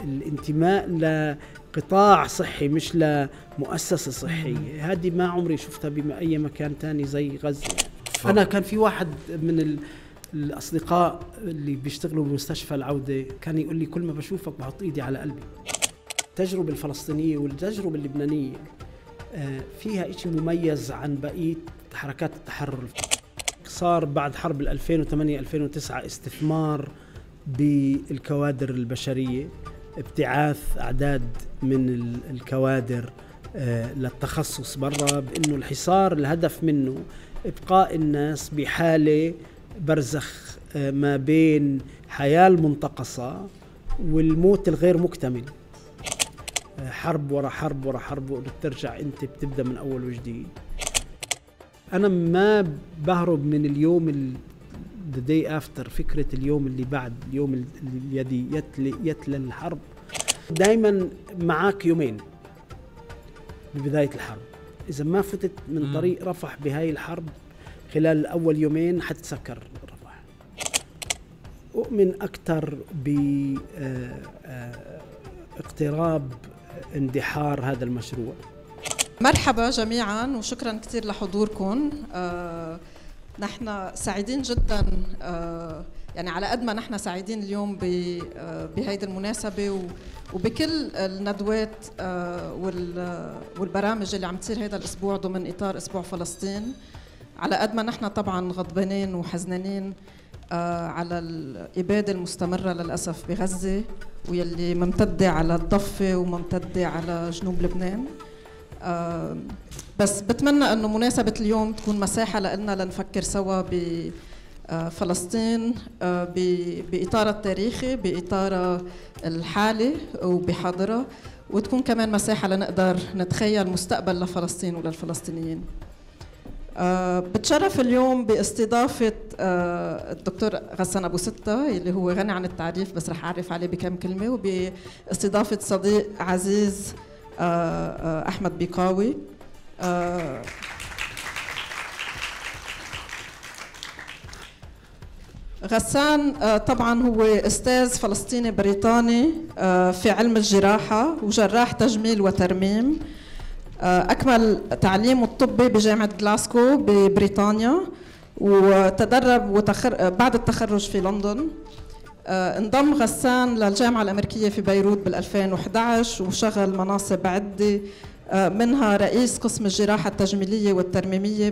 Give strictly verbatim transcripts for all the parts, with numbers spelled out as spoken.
الانتماء لقطاع صحي مش لمؤسسة صحية، هذه ما عمري شفتها بأي مكان تاني زي غزة. أنا كان في واحد من الأصدقاء اللي بيشتغلوا بمستشفى العودة كان يقول لي كل ما بشوفك بحط إيدي على قلبي. التجربة الفلسطينية والتجربة اللبنانية فيها إشي مميز عن بقية حركات التحرر. صار بعد حرب ألفين وثمانية ألفين وتسعة استثمار بالكوادر البشرية، ابتعاث أعداد من الكوادر للتخصص برا، بأنه الحصار الهدف منه إبقاء الناس بحالة برزخ ما بين حياة المنتقصة والموت الغير مكتمل، حرب ورا حرب ورا حرب، وبترجع أنت بتبدأ من أول وجديد. أنا ما بهرب من اليوم ال the day after، فكرة اليوم اللي بعد، اليوم الذي يتلي, يتلى الحرب. دايما معك يومين ببداية الحرب، إذا ما فتت من طريق رفح بهاي الحرب خلال أول يومين حتتسكر رفح. أؤمن أكثر باقتراب اندحار هذا المشروع. مرحبا جميعا وشكرا كثير لحضوركم. آه نحن سعيدين جدا، آه يعني على قد ما نحن سعيدين اليوم بهيدي المناسبة وبكل الندوات آه والبرامج اللي عم تصير هذا الأسبوع ضمن إطار أسبوع فلسطين، على قد ما نحن طبعا غضبانين وحزنانين آه على الإبادة المستمرة للأسف بغزة، واللي ممتدة على الضفة وممتدة على جنوب لبنان. آه بس بتمنى أنه مناسبة اليوم تكون مساحة لنا لنفكر سوا بفلسطين آه بإطار التاريخي، بإطار الحالي وبحاضرة، وتكون كمان مساحة لنقدر نتخيل مستقبل لفلسطين وللفلسطينيين. آه بتشرف اليوم باستضافة آه الدكتور غسان أبو ستة اللي هو غني عن التعريف، بس رح أعرف عليه بكم كلمة، وباستضافة صديق عزيز آه أحمد بيقاوي. آه غسان آه طبعا هو أستاذ فلسطيني بريطاني آه في علم الجراحة وجراح تجميل وترميم. أكمل تعليمه الطبي بجامعة غلاسكو ببريطانيا، وتدرب وتخر... بعد التخرج في لندن. انضم غسان للجامعة الأمريكية في بيروت بالألفين وإحدى عشر وشغل مناصب عدة، منها رئيس قسم الجراحة التجميلية والترميمية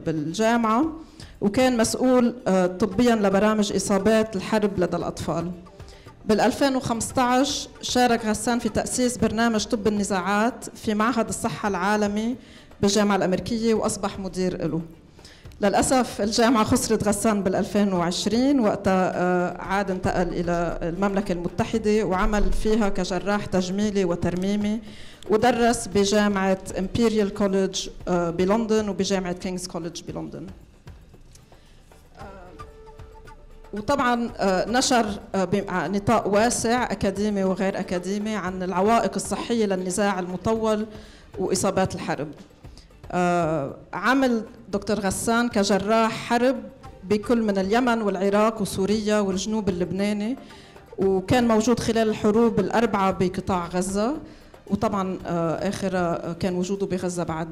بالجامعة، وكان مسؤول طبيا لبرامج إصابات الحرب لدى الأطفال. بالألفين وخمسة عشر شارك غسان في تأسيس برنامج طب النزاعات في معهد الصحة العالمي بالجامعة الأمريكية وأصبح مدير له. للأسف الجامعة خسرت غسان بالألفين وعشرين، وقتها عاد انتقل إلى المملكة المتحدة وعمل فيها كجراح تجميلي وترميمي، ودرس بجامعة إمبيريال كوليدج بلندن وبجامعة كينغز كوليدج بلندن. وطبعا نشر بنطاق واسع أكاديمي وغير أكاديمي عن العوائق الصحية للنزاع المطول وإصابات الحرب. عمل دكتور غسان كجراح حرب بكل من اليمن والعراق وسوريا والجنوب اللبناني، وكان موجود خلال الحروب الأربعة بقطاع غزة، وطبعا آخر كان وجوده بغزة بعد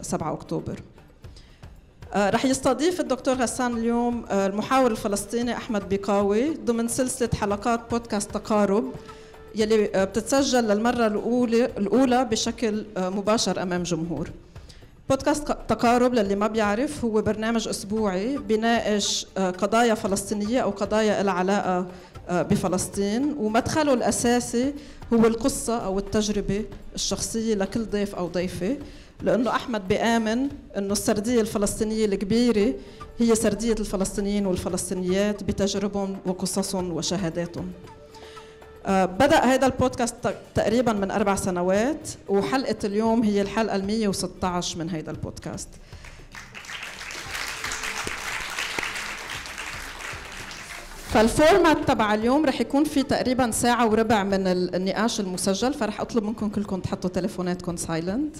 سبعة أكتوبر. رح يستضيف الدكتور غسان اليوم المحاور الفلسطيني أحمد بيقاوي ضمن سلسلة حلقات بودكاست تقارب يلي بتتسجل للمرة الأولى الأولى بشكل مباشر أمام جمهور. بودكاست تقارب للي ما بيعرف هو برنامج أسبوعي بيناقش قضايا فلسطينية أو قضايا لها علاقة بفلسطين، ومدخله الأساسي هو القصة أو التجربة الشخصية لكل ضيف أو ضيفة، لأنه أحمد بيآمن أنه السردية الفلسطينية الكبيرة هي سردية الفلسطينيين والفلسطينيات بتجاربهم وقصصهم وشهاداتهم. آه بدأ هذا البودكاست تقريبا من أربع سنوات، وحلقة اليوم هي الحلقة المية وستة عشر من هذا البودكاست. فالفورمات تبع اليوم رح يكون في تقريبا ساعة وربع من النقاش المسجل، فرح أطلب منكم كلكم تحطوا تليفوناتكم سايلنت.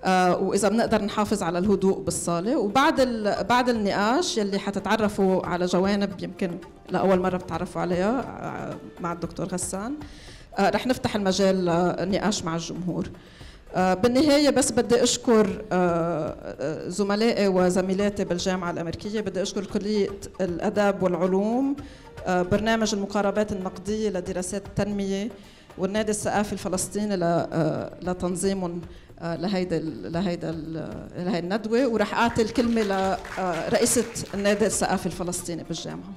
آه وإذا بنقدر نحافظ على الهدوء بالصالة. وبعد بعد النقاش يلي حتتعرفوا على جوانب يمكن لأول مرة بتعرفوا عليها آه مع الدكتور غسان، آه رح نفتح المجال للنقاش مع الجمهور. آه بالنهاية بس بدي أشكر آه زملائي وزميلاتي بالجامعة الأمريكية، بدي أشكر كلية الأداب والعلوم، آه برنامج المقاربات النقدية لدراسات التنمية، والنادي الثقافي الفلسطيني لتنظيمهم لهيدا لهيدا لهي الندوة. ورح أعطي الكلمة لرئيسة النادي الثقافي الفلسطيني بالجامعة.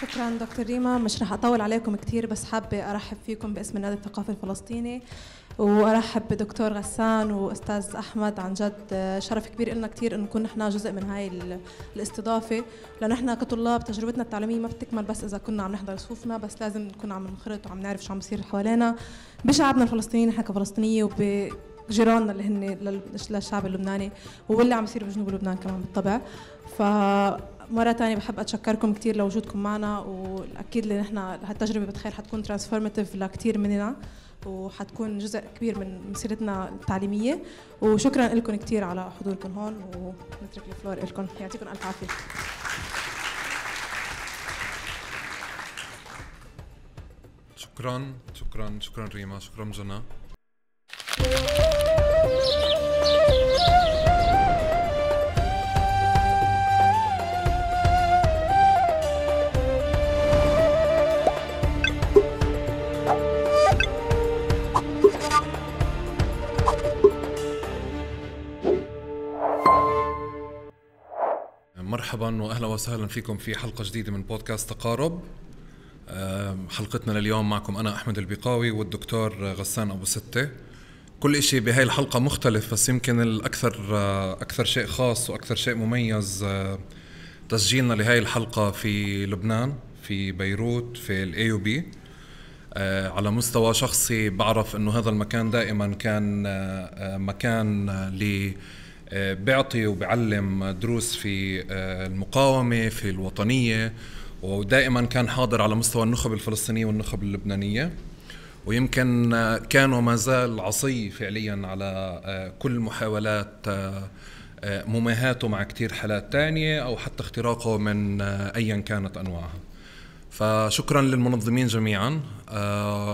شكرا دكتور ريما، مش رح أطول عليكم كتير، بس حابة أرحب فيكم باسم النادي الثقافي الفلسطيني، وأرحب بدكتور غسان وأستاذ أحمد. عن جد شرف كبير لنا كتير إنه نكون نحن جزء من هاي الاستضافة، لأنه نحن كطلاب تجربتنا التعليمية ما بتكمل بس إذا كنا عم نحضر صفوفنا، بس لازم نكون عم ننخرط وعم نعرف شو عم بيصير حوالينا بشعبنا الفلسطيني نحن كفلسطينية، وبجيراننا اللي هن للشعب اللبناني، واللي عم يصير بجنوب لبنان كمان بالطبع. فمرة تانية بحب أتشكركم كتير لوجودكم معنا، والأكيد اللي نحن هالتجربة بتخيل حتكون ترانسفورماتيف لكتير مننا، وحتكون جزء كبير من مسيرتنا التعليمية. وشكرا لكم كتير على حضوركم هون، ونترك الفلور لكم. يعطيكم ألف عافية. شكرا شكرا شكرا ريما، شكرا جنى. مرحبا واهلا وسهلا فيكم في حلقه جديده من بودكاست تقارب. حلقتنا لليوم معكم انا احمد البقاوي والدكتور غسان ابو ستة. كل إشي بهاي الحلقه مختلف، بس يمكن الاكثر اكثر شيء خاص واكثر شيء مميز تسجيلنا لهاي الحلقه في لبنان، في بيروت، في الاي يو بي. على مستوى شخصي بعرف انه هذا المكان دائما كان مكان ل بيعطي وبيعلم دروس في المقاومة، في الوطنية، ودائما كان حاضر على مستوى النخب الفلسطينية والنخب اللبنانية، ويمكن كان وما زال عصي فعليا على كل محاولات مماهاته مع كتير حالات تانية أو حتى اختراقه من أيا كانت أنواعها. فشكرا للمنظمين جميعا.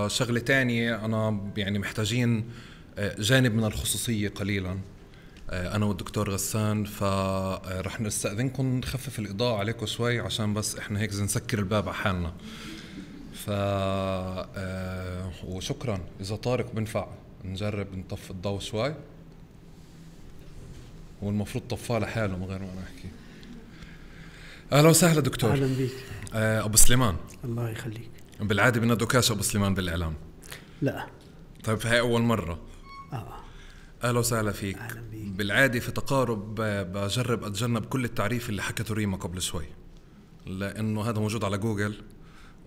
شغلة تانية، أنا يعني محتاجين جانب من الخصوصية قليلا أنا والدكتور غسان، فرح نستأذنكم نخفف الإضاءة عليكم شوي عشان بس إحنا هيك نسكر الباب على حالنا. ف وشكرا. إذا طارق بنفع نجرب نطفي الضوء شوي، والمفروض طفاه لحاله من غير ما أنا أحكي. أهلا وسهلا دكتور. أهلا بيك. أبو سليمان. الله يخليك. بالعادة بندوكاش أبو سليمان بالإعلام؟ لا. طيب هاي أول مرة. آه. أهلا وسهلا فيك. أهلا بيك. بالعادة في تقارب بجرب أتجنب كل التعريف اللي حكته ريما قبل شوي، لأنه هذا موجود على جوجل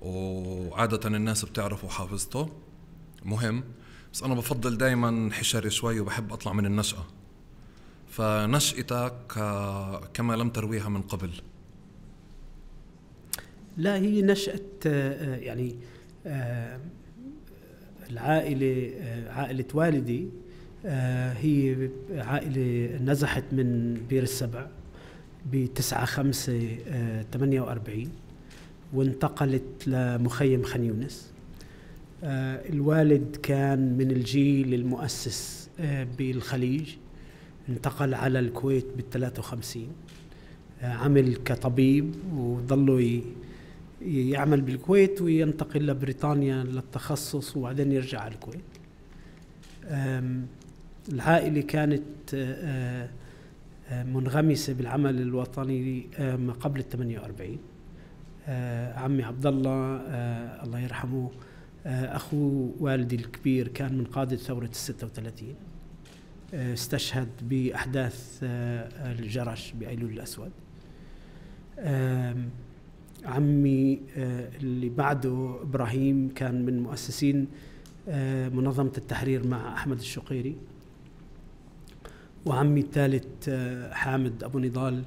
وعادة الناس بتعرفه وحافظته مهم، بس أنا بفضل دايما حشري شوي وبحب أطلع من النشأة. فنشأتك كما لم ترويها من قبل. لا، هي نشأة يعني العائلة، عائلة والدي هي عائلة نزحت من بير السبع بتسعة خمسة ثمانية وأربعين وانتقلت لمخيم خان يونس. الوالد كان من الجيل المؤسس بالخليج، انتقل على الكويت بالثلاثة وخمسين، عمل كطبيب وظلوا يعمل بالكويت وينتقل لبريطانيا للتخصص وبعدين يرجع على الكويت. العائلة كانت منغمسة بالعمل الوطني ما قبل الثمانية وأربعين. عمي عبد الله الله يرحمه أخو والدي الكبير كان من قادة ثورة الستة وثلاثين، استشهد بأحداث الجرش بأيلول الأسود. عمي اللي بعده إبراهيم كان من مؤسسين منظمة التحرير مع أحمد الشقيري، وعمي الثالث حامد أبو نضال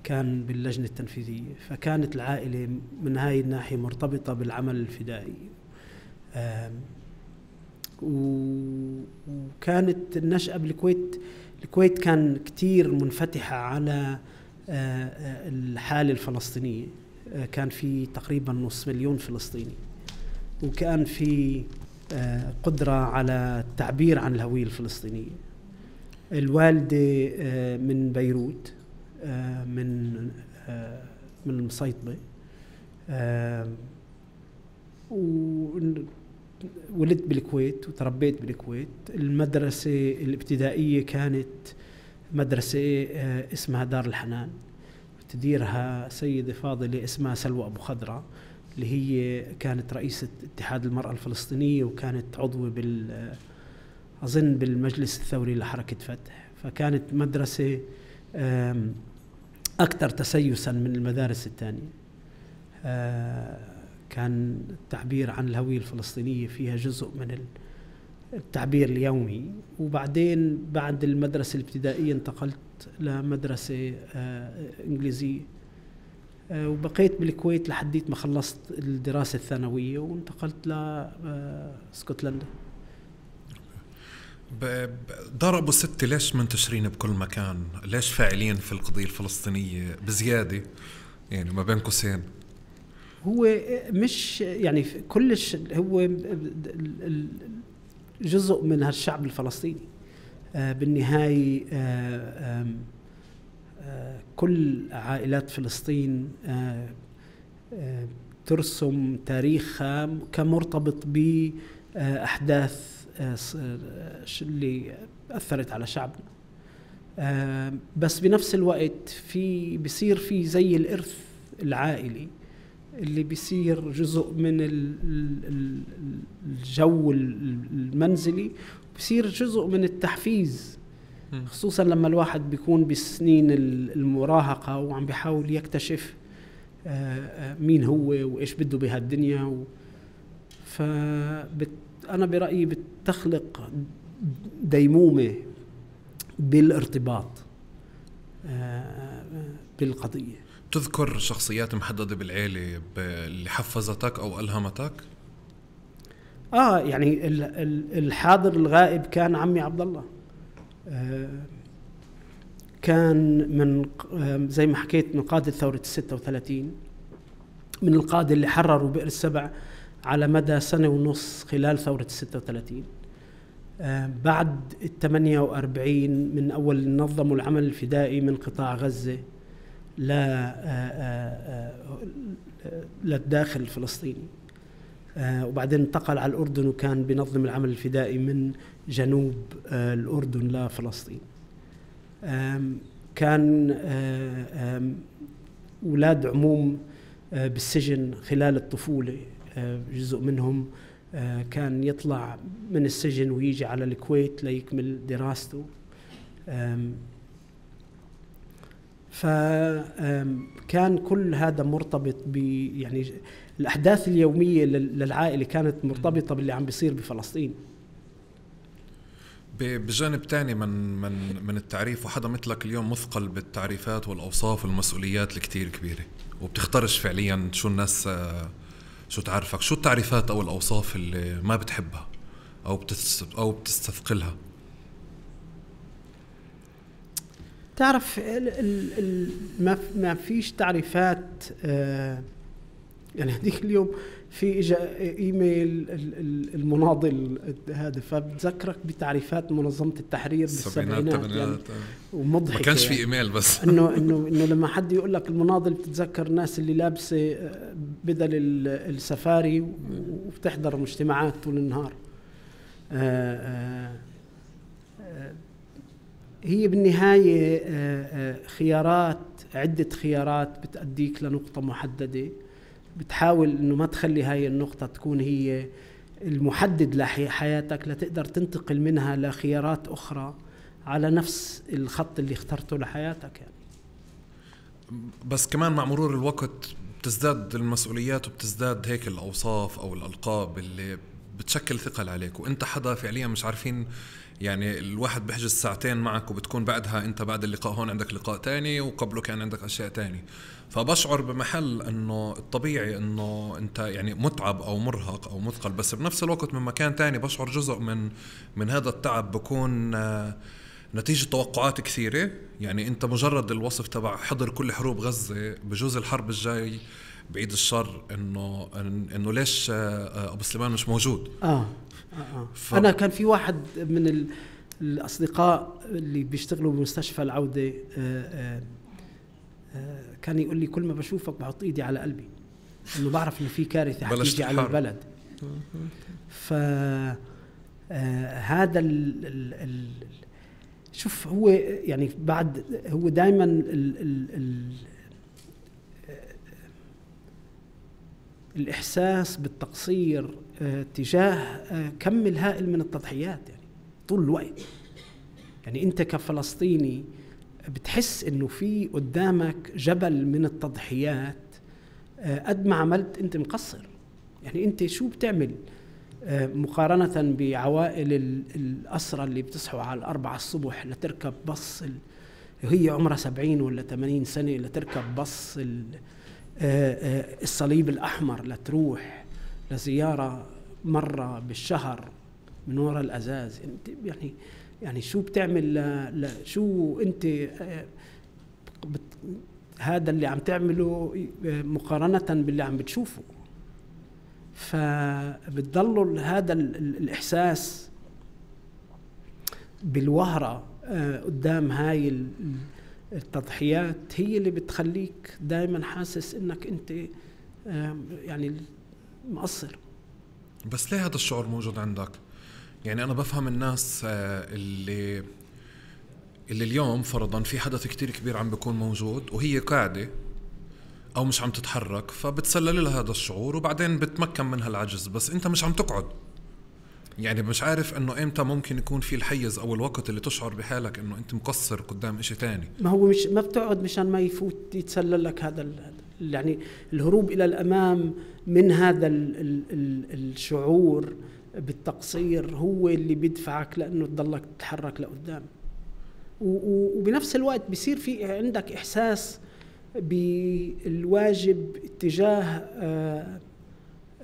كان باللجنة التنفيذية. فكانت العائلة من هاي الناحية مرتبطة بالعمل الفدائي. وكانت النشأة بالكويت، الكويت كان كتير منفتحة على الحالة الفلسطينية. كان في تقريبا نص مليون فلسطيني، وكان في قدرة على التعبير عن الهوية الفلسطينية. الوالدة من بيروت، من من المصيطبة، وولدت بالكويت وتربيت بالكويت. المدرسة الابتدائية كانت مدرسة اسمها دار الحنان، تديرها سيدة فاضلة اسمها سلوى أبو خضرة، اللي هي كانت رئيسة اتحاد المرأة الفلسطينية، وكانت عضوة بال أظن بالمجلس الثوري لحركة فتح. فكانت مدرسة أكثر تسيسا من المدارس الثانية. كان التعبير عن الهوية الفلسطينية فيها جزء من التعبير اليومي. وبعدين بعد المدرسة الابتدائية انتقلت لمدرسة إنجليزية، وبقيت بالكويت لحديت ما خلصت الدراسة الثانوية وانتقلت لاسكتلندا. دار أبو ستة ليش منتشرين بكل مكان؟ ليش فاعلين في القضية الفلسطينية بزيادة؟ يعني ما بين قوسين، هو مش يعني كلش، هو جزء من هالشعب الفلسطيني. بالنهاية كل عائلات فلسطين ترسم تاريخها كمرتبط بأحداث اللي أثرت على شعبنا. بس بنفس الوقت في بيصير في زي الإرث العائلي اللي بيصير جزء من الجو المنزلي، بيصير جزء من التحفيز، خصوصا لما الواحد بيكون بسنين المراهقة وعم بيحاول يكتشف مين هو وإيش بده بهالدنيا. فأنا برأيي بتخلق ديمومة بالارتباط بالقضية. تذكر شخصيات محددة بالعيلة اللي حفزتك أو ألهمتك؟ آه يعني الحاضر الغائب كان عمي عبد الله. آه كان من زي ما حكيت من قادة ثورة الستة وثلاثين، من القادة اللي حرروا بئر السبع على مدى سنة ونص خلال ثورة الستة وثلاثين. آه بعد الثمانية وأربعين من أول نظموا العمل الفدائي من قطاع غزة للداخل الفلسطيني، آه وبعدين انتقل على الأردن وكان بنظم العمل الفدائي من جنوب آه الأردن لفلسطين. كان أولاد عموم آه بالسجن خلال الطفولة، آه جزء منهم آه كان يطلع من السجن ويجي على الكويت ليكمل دراسته. فكان كل هذا مرتبط ب يعني الأحداث اليومية للعائلة كانت مرتبطة باللي عم بيصير بفلسطين. بجانب تاني من من من التعريف، وحدا مثلك اليوم مثقل بالتعريفات والأوصاف والمسؤوليات الكتير كبيرة، وبتختارش فعليا شو الناس شو تعرفك، شو التعريفات أو الأوصاف اللي ما بتحبها أو أو بتستثقلها؟ تعرف ال ال ال ما ما فيش تعريفات. آه يعني هذيك اليوم في اجا ايميل المناضل هذا، فبتذكرك بتعريفات منظمة التحرير بالسبعينات يعني، ومضحك ما كانش يعني في ايميل بس انه انه انه لما حد يقول لك المناضل بتتذكر الناس اللي لابسه بدل السفاري وبتحضر مجتمعات طول النهار. آآ آآ هي بالنهاية خيارات، عدة خيارات بتأديك لنقطة محددة، بتحاول إنه ما تخلي هاي النقطة تكون هي المحدد لحياتك، لتقدر تنتقل منها لخيارات أخرى على نفس الخط اللي اخترته لحياتك يعني. بس كمان مع مرور الوقت بتزداد المسؤوليات وبتزداد هيك الأوصاف أو الألقاب اللي بتشكل ثقل عليك، وإنت حدا فعليا مش عارفين يعني الواحد بيحجز ساعتين معك وبتكون بعدها انت بعد اللقاء هون عندك لقاء تاني وقبله كان عندك اشياء تاني. فبشعر بمحل انه الطبيعي انه انت يعني متعب او مرهق او مثقل، بس بنفس الوقت من مكان تاني بشعر جزء من من هذا التعب بكون نتيجة توقعات كثيرة. يعني انت مجرد الوصف تبع حضر كل حروب غزة، بجوز الحرب الجاي بعيد الشر انه انه ليش ابو سليمان مش موجود. اه, آه, آه. ف... انا كان في واحد من ال... الاصدقاء اللي بيشتغلوا بمستشفى العودة آه آه آه كان يقول لي كل ما بشوفك بحط ايدي على قلبي، انه بعرف انه في كارثة حتيجي على البلد. ف آه هذا ال... ال... ال... شوف هو يعني بعد هو دائما ال... ال... ال... الإحساس بالتقصير اه تجاه اه كم الهائل من التضحيات يعني طول الوقت. يعني أنت كفلسطيني بتحس إنه في قدامك جبل من التضحيات، اه قد ما عملت أنت مقصر. يعني أنت شو بتعمل اه مقارنة بعوائل الأسرة اللي بتصحوا على الأربعة الصبح لتركب بص هي عمرها سبعين ولا ثمانين سنة لتركب بص الصليب الأحمر لتروح لزيارة مرة بالشهر من وراء الأزاز. يعني يعني شو بتعمل ل... ل... شو أنت بت... هذا اللي عم تعمله مقارنة باللي عم بتشوفه. فبتضلوا هذا ال... الإحساس بالوهرة قدام هاي ال... التضحيات هي اللي بتخليك دائما حاسس انك انت يعني مقصر. بس ليه هذا الشعور موجود عندك؟ يعني انا بفهم الناس اللي اللي اليوم فرضا في حدث كتير كبير عم بيكون موجود وهي قاعدة او مش عم تتحرك، فبتسلل لها هذا الشعور وبعدين بتمكن منها العجز. بس انت مش عم تقعد، يعني مش عارف انه امتى ممكن يكون في الحيز او الوقت اللي تشعر بحالك انه انت مقصر قدام اشي تاني. ما هو مش ما بتقعد مشان ما يفوت يتسلل لك هذا يعني الهروب الى الامام من هذا ال ال ال الشعور بالتقصير هو اللي بيدفعك لانه تضلك تتحرك لقدام. وبنفس الوقت بيصير في عندك احساس بالواجب اتجاه آه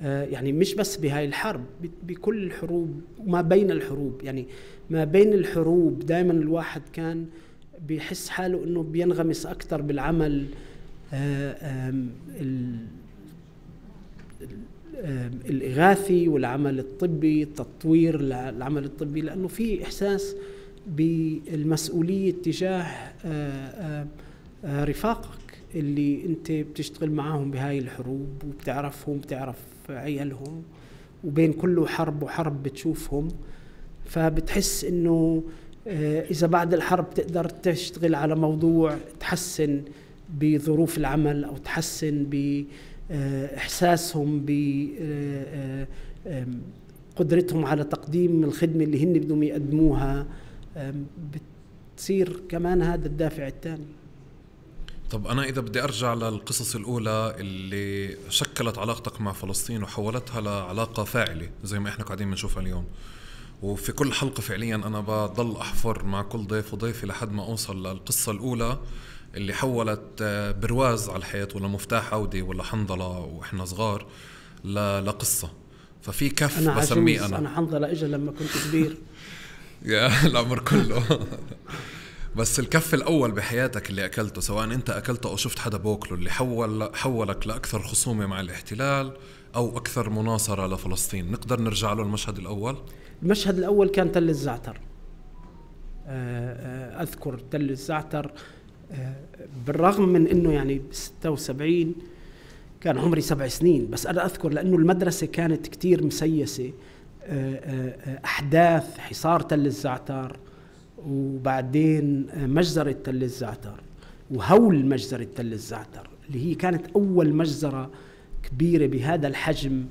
يعني مش بس بهاي الحرب، بكل الحروب وما بين الحروب. يعني ما بين الحروب دائما الواحد كان بيحس حاله انه بينغمس اكثر بالعمل الاغاثي والعمل الطبي، تطوير العمل الطبي، لانه في احساس بالمسؤوليه تجاه رفاقك اللي انت بتشتغل معاهم بهاي الحروب وبتعرفهم بتعرف عيالهم، وبين كله حرب وحرب بتشوفهم. فبتحس انه اذا بعد الحرب تقدر تشتغل على موضوع تحسن بظروف العمل او تحسن باحساسهم بقدرتهم على تقديم الخدمة اللي هن بدهم يقدموها، بتصير كمان هذا الدافع الثاني. طب أنا إذا بدي أرجع للقصص الأولى اللي شكلت علاقتك مع فلسطين وحولتها لعلاقة فاعلة زي ما إحنا قاعدين بنشوفها اليوم، وفي كل حلقة فعليا أنا بضل أحفر مع كل ضيف وضيفي لحد ما أوصل للقصة الأولى اللي حولت برواز على الحياة ولا مفتاح عودة ولا حنظلة وإحنا صغار لقصة. ففي كف أنا بسميه أنا أنا حنظلة إجا لما كنت كبير يا العمر كله. بس الكف الأول بحياتك اللي أكلته، سواء أنت أكلته أو شفت حدا بوكله، اللي حول حولك لأكثر خصومة مع الاحتلال أو أكثر مناصرة لفلسطين، نقدر نرجع له المشهد الأول؟ المشهد الأول كان تل الزعتر. أذكر تل الزعتر بالرغم من أنه يعني ستة وسبعين كان عمري سبع سنين، بس أنا أذكر لأنه المدرسة كانت كتير مسيسة. أحداث حصار تل الزعتر وبعدين مجزرة تل الزعتر وهول مجزرة تل الزعتر اللي هي كانت أول مجزرة كبيرة بهذا الحجم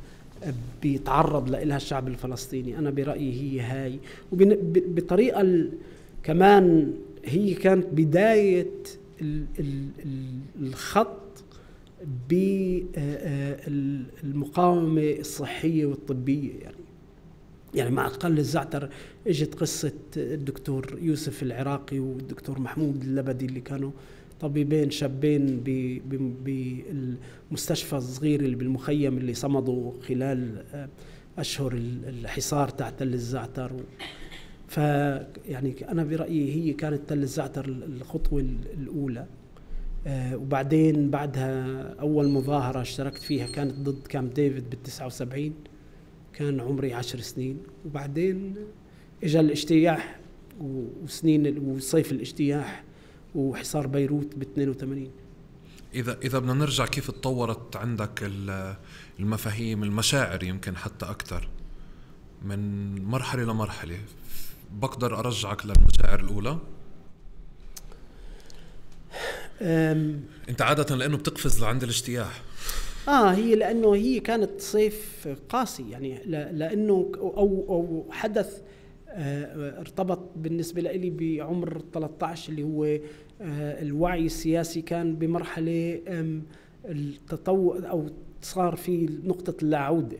بيتعرض لها الشعب الفلسطيني. أنا برأيي هي هاي، وبطريقة كمان هي كانت بداية الخط بالمقاومة الصحية والطبية. يعني يعني مع تل الزعتر اجت قصة الدكتور يوسف العراقي والدكتور محمود اللبدي اللي كانوا طبيبين شابين بالمستشفى الصغير اللي بالمخيم اللي صمدوا خلال أشهر الحصار تحت تل الزعتر. ف يعني أنا برأيي هي كانت تل الزعتر الخطوة الأولى. وبعدين بعدها أول مظاهرة اشتركت فيها كانت ضد كامب ديفيد بالتسعة وسبعين، كان عمري عشر سنين. وبعدين اجى الاجتياح وسنين وصيف الاجتياح وحصار بيروت باثنين وثمانين. إذا إذا بدنا نرجع كيف تطورت عندك المفاهيم المشاعر يمكن حتى أكثر من مرحلة لمرحلة، بقدر أرجعك للمشاعر الأولى؟ أنت عادة لأنه بتقفز لعند الاجتياح. آه هي لأنه هي كانت صيف قاسي يعني لأنه أو أو حدث آه ارتبط بالنسبة لي بعمر ثلاثة عشر اللي هو آه الوعي السياسي كان بمرحلة التطور أو صار في نقطة اللا عودة.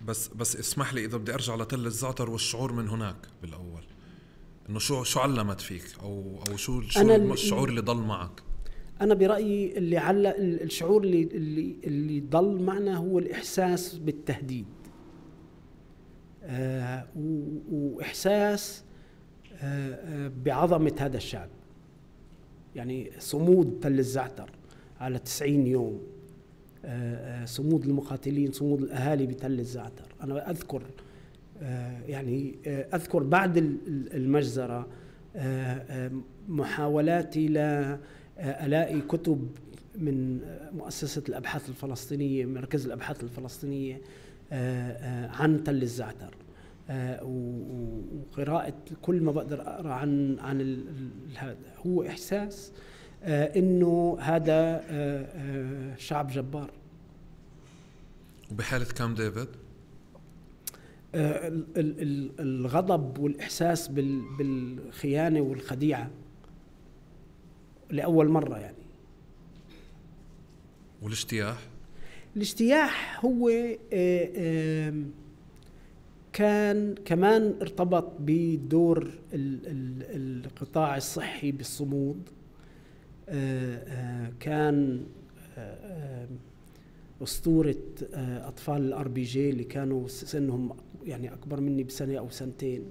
بس بس اسمح لي إذا بدي أرجع لتل الزعتر والشعور من هناك بالأول، إنه شو شو علمت فيك أو أو شو شو الشعور اللي ضل معك؟ أنا برأيي اللي علق الشعور اللي اللي اللي ضل معنا هو الإحساس بالتهديد. آه وإحساس آه آه بعظمة هذا الشعب. يعني صمود تل الزعتر على تسعين يوم، آه آه صمود المقاتلين، صمود الأهالي بتل الزعتر. أنا أذكر آه يعني آه أذكر بعد المجزرة آه آه محاولاتي لا ألاقي كتب من مؤسسة الأبحاث الفلسطينية، مركز الأبحاث الفلسطينية عن تل الزعتر، وقراءة كل ما بقدر أقرأ عن عن هذا. هو إحساس إنه هذا شعب جبار. وبحالة كامب ديفيد الغضب والإحساس بالخيانة والخديعة لأول مرة يعني. والاجتياح؟ الاجتياح هو كان كمان ارتبط بدور القطاع الصحي بالصمود. كان أسطورة أطفال الار بي جي اللي كانوا سنهم يعني أكبر مني بسنة أو سنتين،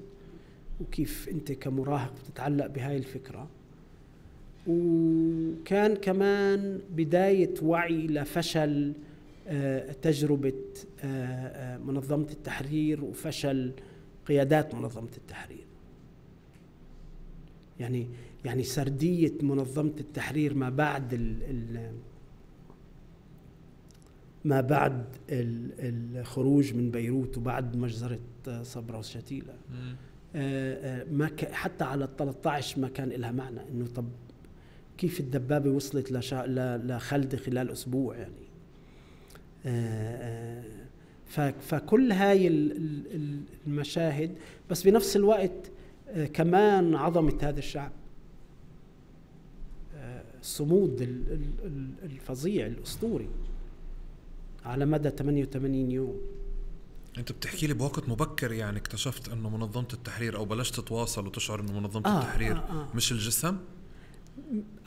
وكيف أنت كمراهق بتتعلق بهاي الفكرة. وكان كمان بداية وعي لفشل تجربة منظمة التحرير وفشل قيادات منظمة التحرير. يعني يعني سردية منظمة التحرير ما بعد ال ال ما بعد الخروج من بيروت وبعد مجزرة صبرا وشتيلة، ما حتى على الثلاثة عشر ما كان لها معنى إنه طب كيف الدبابة وصلت لخلد خلال أسبوع يعني. فكل هاي المشاهد، بس بنفس الوقت كمان عظمة هذا الشعب، الصمود الفظيع الأسطوري على مدى ثمانية وثمانين يوم. أنت بتحكي لي بوقت مبكر يعني اكتشفت أنه منظمة التحرير أو بلشت تتواصل وتشعر أنه منظمة آه التحرير آه آه. مش الجسم؟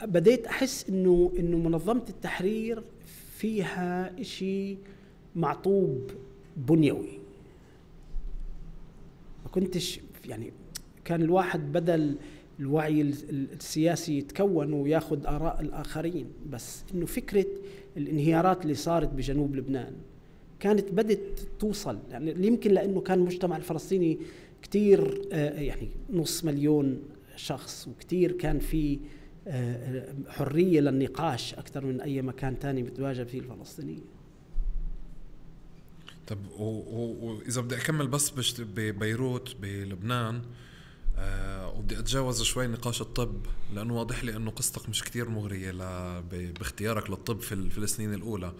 بديت أحس إنه إنه منظمة التحرير فيها إشي معطوب بنيوي. ما كنتش يعني كان الواحد بدل الوعي السياسي يتكون وياخد آراء الآخرين، بس إنه فكرة الانهيارات اللي صارت بجنوب لبنان كانت بدت توصل يعني يمكن لأنه كان المجتمع الفلسطيني كتير يعني نص مليون شخص، وكتير كان في حرية للنقاش أكثر من أي مكان تاني بتواجه فيه الفلسطينيين. طب وإذا بدي أكمل بس ببيروت بلبنان، أه وبدي أتجاوز شوي نقاش الطب لأنه واضح لي أنه قصتك مش كتير مغرية باختيارك للطب في, في السنين الأولى.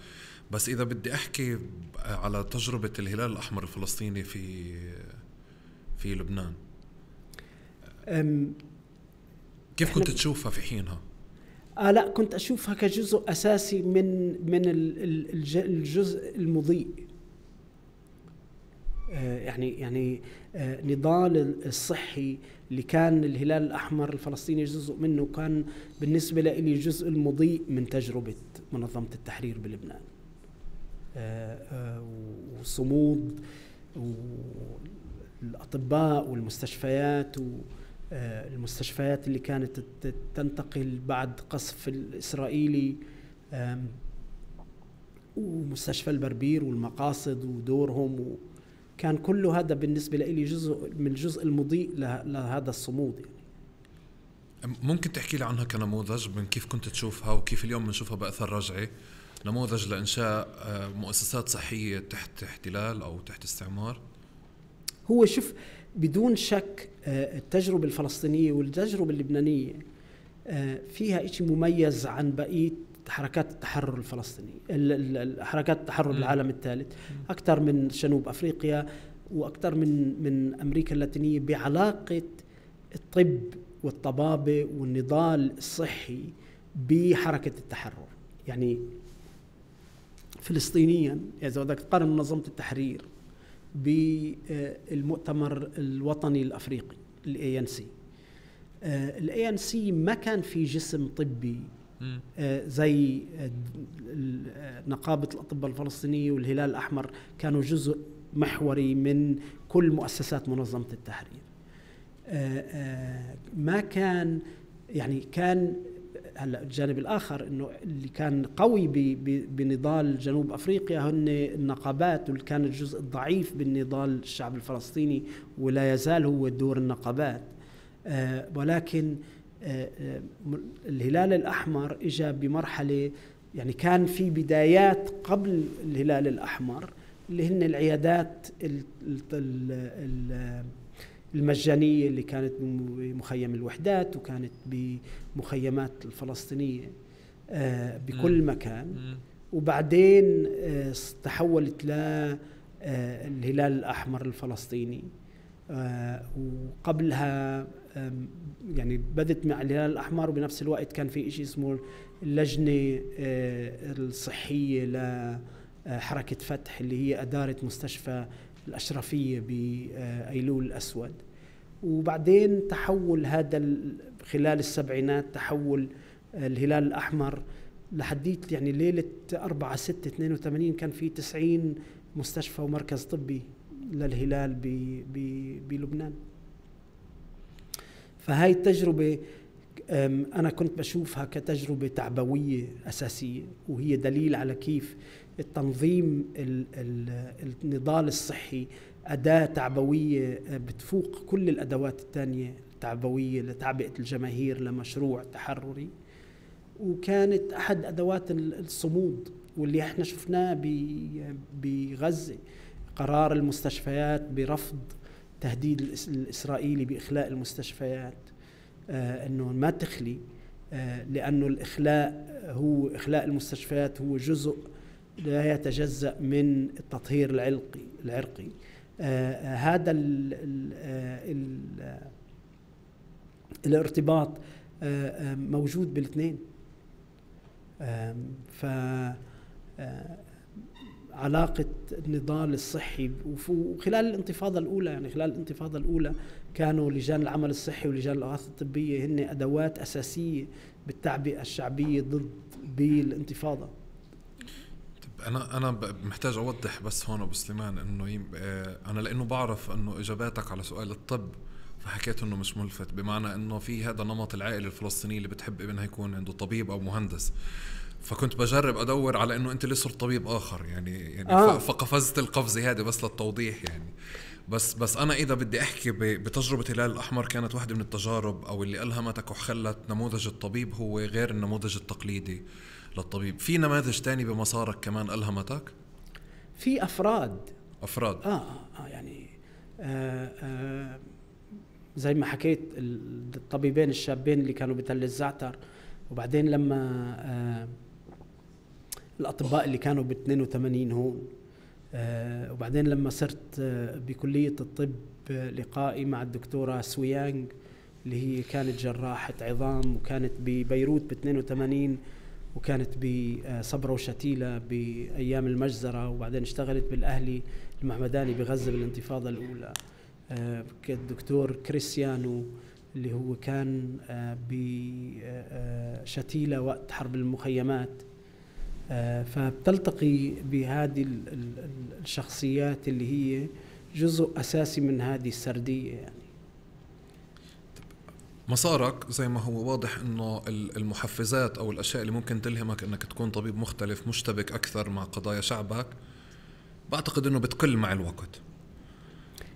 بس إذا بدي أحكي على تجربة الهلال الأحمر الفلسطيني في في لبنان، كيف كنت تشوفها في حينها؟ آه لا كنت أشوفها كجزء أساسي من من الجزء المضيء. يعني يعني نضال الصحي اللي كان الهلال الأحمر الفلسطيني جزء منه، كان بالنسبة لي جزء المضيء من تجربة منظمة التحرير بلبنان. وصمود والأطباء والمستشفيات والمستشفيات اللي كانت تنتقل بعد قصف الإسرائيلي، ومستشفى البربير والمقاصد ودورهم، كان كل هذا بالنسبة لي جزء من الجزء المضيء لهذا الصمود. يعني ممكن تحكي لي عنها كنموذج من كيف كنت تشوفها وكيف اليوم بنشوفها بأثر رجعي، نموذج لإنشاء مؤسسات صحية تحت احتلال أو تحت استعمار؟ هو شوف، بدون شك التجربة الفلسطينية والتجربة اللبنانية فيها إشي مميز عن بقية حركات التحرر الفلسطيني، حركات التحرر بالعالم الثالث، أكثر من جنوب أفريقيا وأكثر من من أمريكا اللاتينية، بعلاقة الطب والطبابة والنضال الصحي بحركة التحرر. يعني فلسطينيا إذا بدك تقارن منظمة التحرير بالمؤتمر الوطني الأفريقي ال إيه إن سي، ال إيه إن سي ما كان في جسم طبي زي نقابة الأطباء الفلسطينية والهلال الأحمر، كانوا جزء محوري من كل مؤسسات منظمة التحرير. ما كان يعني كان هلا الجانب الآخر إنه اللي كان قوي بنضال جنوب أفريقيا هن النقابات، واللي كان الجزء الضعيف بالنضال الشعب الفلسطيني ولا يزال هو دور النقابات. ولكن الهلال الأحمر إجا بمرحلة، يعني كان في بدايات قبل الهلال الأحمر اللي هن العيادات المجانية اللي كانت بمخيم الوحدات وكانت بمخيمات الفلسطينية بكل مكان، وبعدين تحولت للهلال الأحمر الفلسطيني. وقبلها يعني بدت مع الهلال الأحمر، وبنفس الوقت كان في إشي اسمه اللجنة الصحية لحركة فتح اللي هي أدارة مستشفى الأشرفية بأيلول الأسود. وبعدين تحول هذا خلال السبعينات، تحول الهلال الأحمر لحديت يعني ليلة أربعة ستة اثنين وثمانين كان في تسعين مستشفى ومركز طبي للهلال بلبنان. فهاي التجربة أنا كنت بشوفها كتجربة تعبوية أساسية، وهي دليل على كيف التنظيم النضال الصحي أداة تعبوية بتفوق كل الأدوات الثانية التعبوية لتعبئة الجماهير لمشروع تحرري، وكانت أحد أدوات الصمود. واللي احنا شفناه بغزة، قرار المستشفيات برفض تهديد الإسرائيلي بإخلاء المستشفيات، آه أنه ما تخلي، آه لأنه الإخلاء هو إخلاء المستشفيات هو جزء لا يتجزأ من التطهير العرقي العرقي آه هذا ال ال ال الارتباط آه موجود بالاثنين. آه ف علاقة النضال الصحي وخلال الانتفاضة الأولى، يعني خلال الانتفاضة الأولى كانوا لجان العمل الصحي ولجان الإغاثة الطبية هن أدوات أساسية بالتعبئة الشعبية ضد بالانتفاضة. أنا أنا محتاج أوضح بس هون أبو سليمان إنه أنا لأنه بعرف إنه إجاباتك على سؤال الطب فحكيت إنه مش ملفت، بمعنى إنه في هذا نمط العائلة الفلسطينية اللي بتحب ابنها يكون عنده طبيب أو مهندس، فكنت بجرب أدور على إنه أنت اللي صرت طبيب آخر يعني يعني آه. فقفزت القفزة هذه بس للتوضيح يعني. بس بس أنا إذا بدي أحكي بتجربة الهلال الأحمر، كانت واحدة من التجارب أو اللي ألهمتك وخلت نموذج الطبيب هو غير النموذج التقليدي للطبيب. في نماذج تاني بمسارك كمان ألهمتك؟ في أفراد أفراد آه, آه يعني آه آه زي ما حكيت الطبيبين الشابين اللي كانوا بتل الزعتر، وبعدين لما آه الأطباء اللي كانوا ب اثنين وثمانين هون، آه وبعدين لما صرت آه بكلية الطب آه لقائي مع الدكتورة سويانغ اللي هي كانت جراحة عظام وكانت ببيروت ب اثنين وثمانين وكانت بصبرا وشتيلة بأيام المجزرة، وبعدين اشتغلت بالأهلي المحمداني بغزة بالانتفاضة الأولى. الدكتور كريستيانو اللي هو كان بشتيلة وقت حرب المخيمات. فبتلتقي بهذه الشخصيات اللي هي جزء أساسي من هذه السردية. يعني مسارك زي ما هو واضح انه المحفزات او الاشياء اللي ممكن تلهمك انك تكون طبيب مختلف مشتبك اكثر مع قضايا شعبك، بعتقد انه بتقل مع الوقت.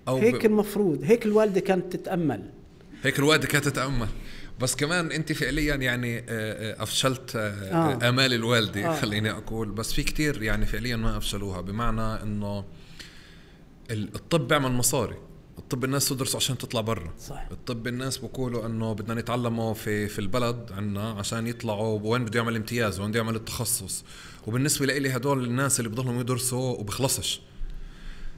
أو هيك ب... المفروض، هيك الوالدة كانت تتأمل هيك الوالدة كانت تتأمل بس كمان انت فعليا يعني افشلت آه. امال الوالدة آه. خليني اقول، بس في كتير يعني فعليا ما افشلوها، بمعنى انه الطب بيعمل مصاري. الطب الناس تدرسه عشان تطلع برا. صح. الطب الناس بقولوا انه بدنا نتعلمه في في البلد عنا عشان يطلعوا وين بده يعمل امتياز وين بده يعمل التخصص، وبالنسبه لي هدول الناس اللي بضلهم يدرسوا وبخلصش،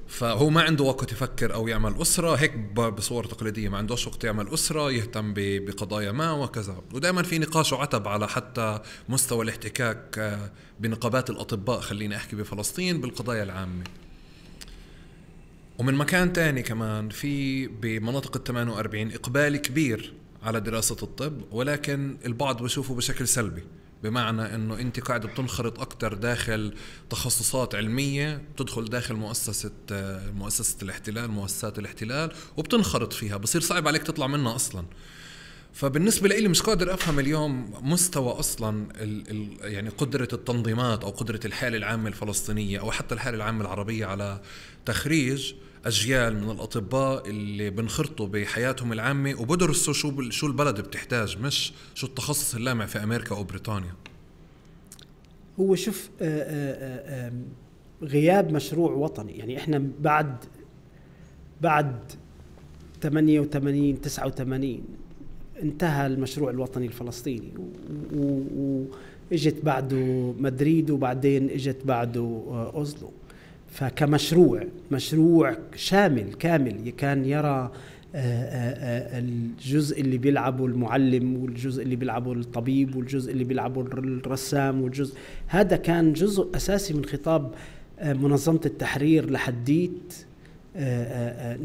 فهو ما عنده وقت يفكر او يعمل اسره هيك بصور تقليديه، ما عندوش وقت يعمل اسره يهتم بقضايا ما وكذا. ودائما في نقاش وعتب على حتى مستوى الاحتكاك بنقابات الاطباء، خليني احكي بفلسطين، بالقضايا العامه. ومن مكان تاني كمان في بمناطق الثمانية وأربعين إقبال كبير على دراسة الطب، ولكن البعض بشوفه بشكل سلبي، بمعنى أنه أنت قاعد بتنخرط أكتر داخل تخصصات علمية، بتدخل داخل مؤسسة مؤسسة الاحتلال، مؤسسات الاحتلال، وبتنخرط فيها، بصير صعب عليك تطلع منها أصلاً. فبالنسبة لي مش قادر أفهم اليوم مستوى أصلاً ال ال يعني قدرة التنظيمات أو قدرة الحالة العامة الفلسطينية أو حتى الحالة العامة العربية على تخريج أجيال من الأطباء اللي بنخرطوا بحياتهم العامة وبدرسوا شو شو البلد بتحتاج، مش شو التخصص اللامع في أمريكا أو بريطانيا. هو شوف آآ آآ غياب مشروع وطني، يعني إحنا بعد بعد ثمانية وثمانين تسعة وثمانين انتهى المشروع الوطني الفلسطيني، واجت بعده مدريد وبعدين اجت بعده أوزلو. فكمشروع مشروع شامل كامل كان يرى الجزء اللي بيلعبه المعلم والجزء اللي بيلعبه الطبيب والجزء اللي بيلعبه الرسام والجزء هذا كان جزء أساسي من خطاب منظمة التحرير لحديت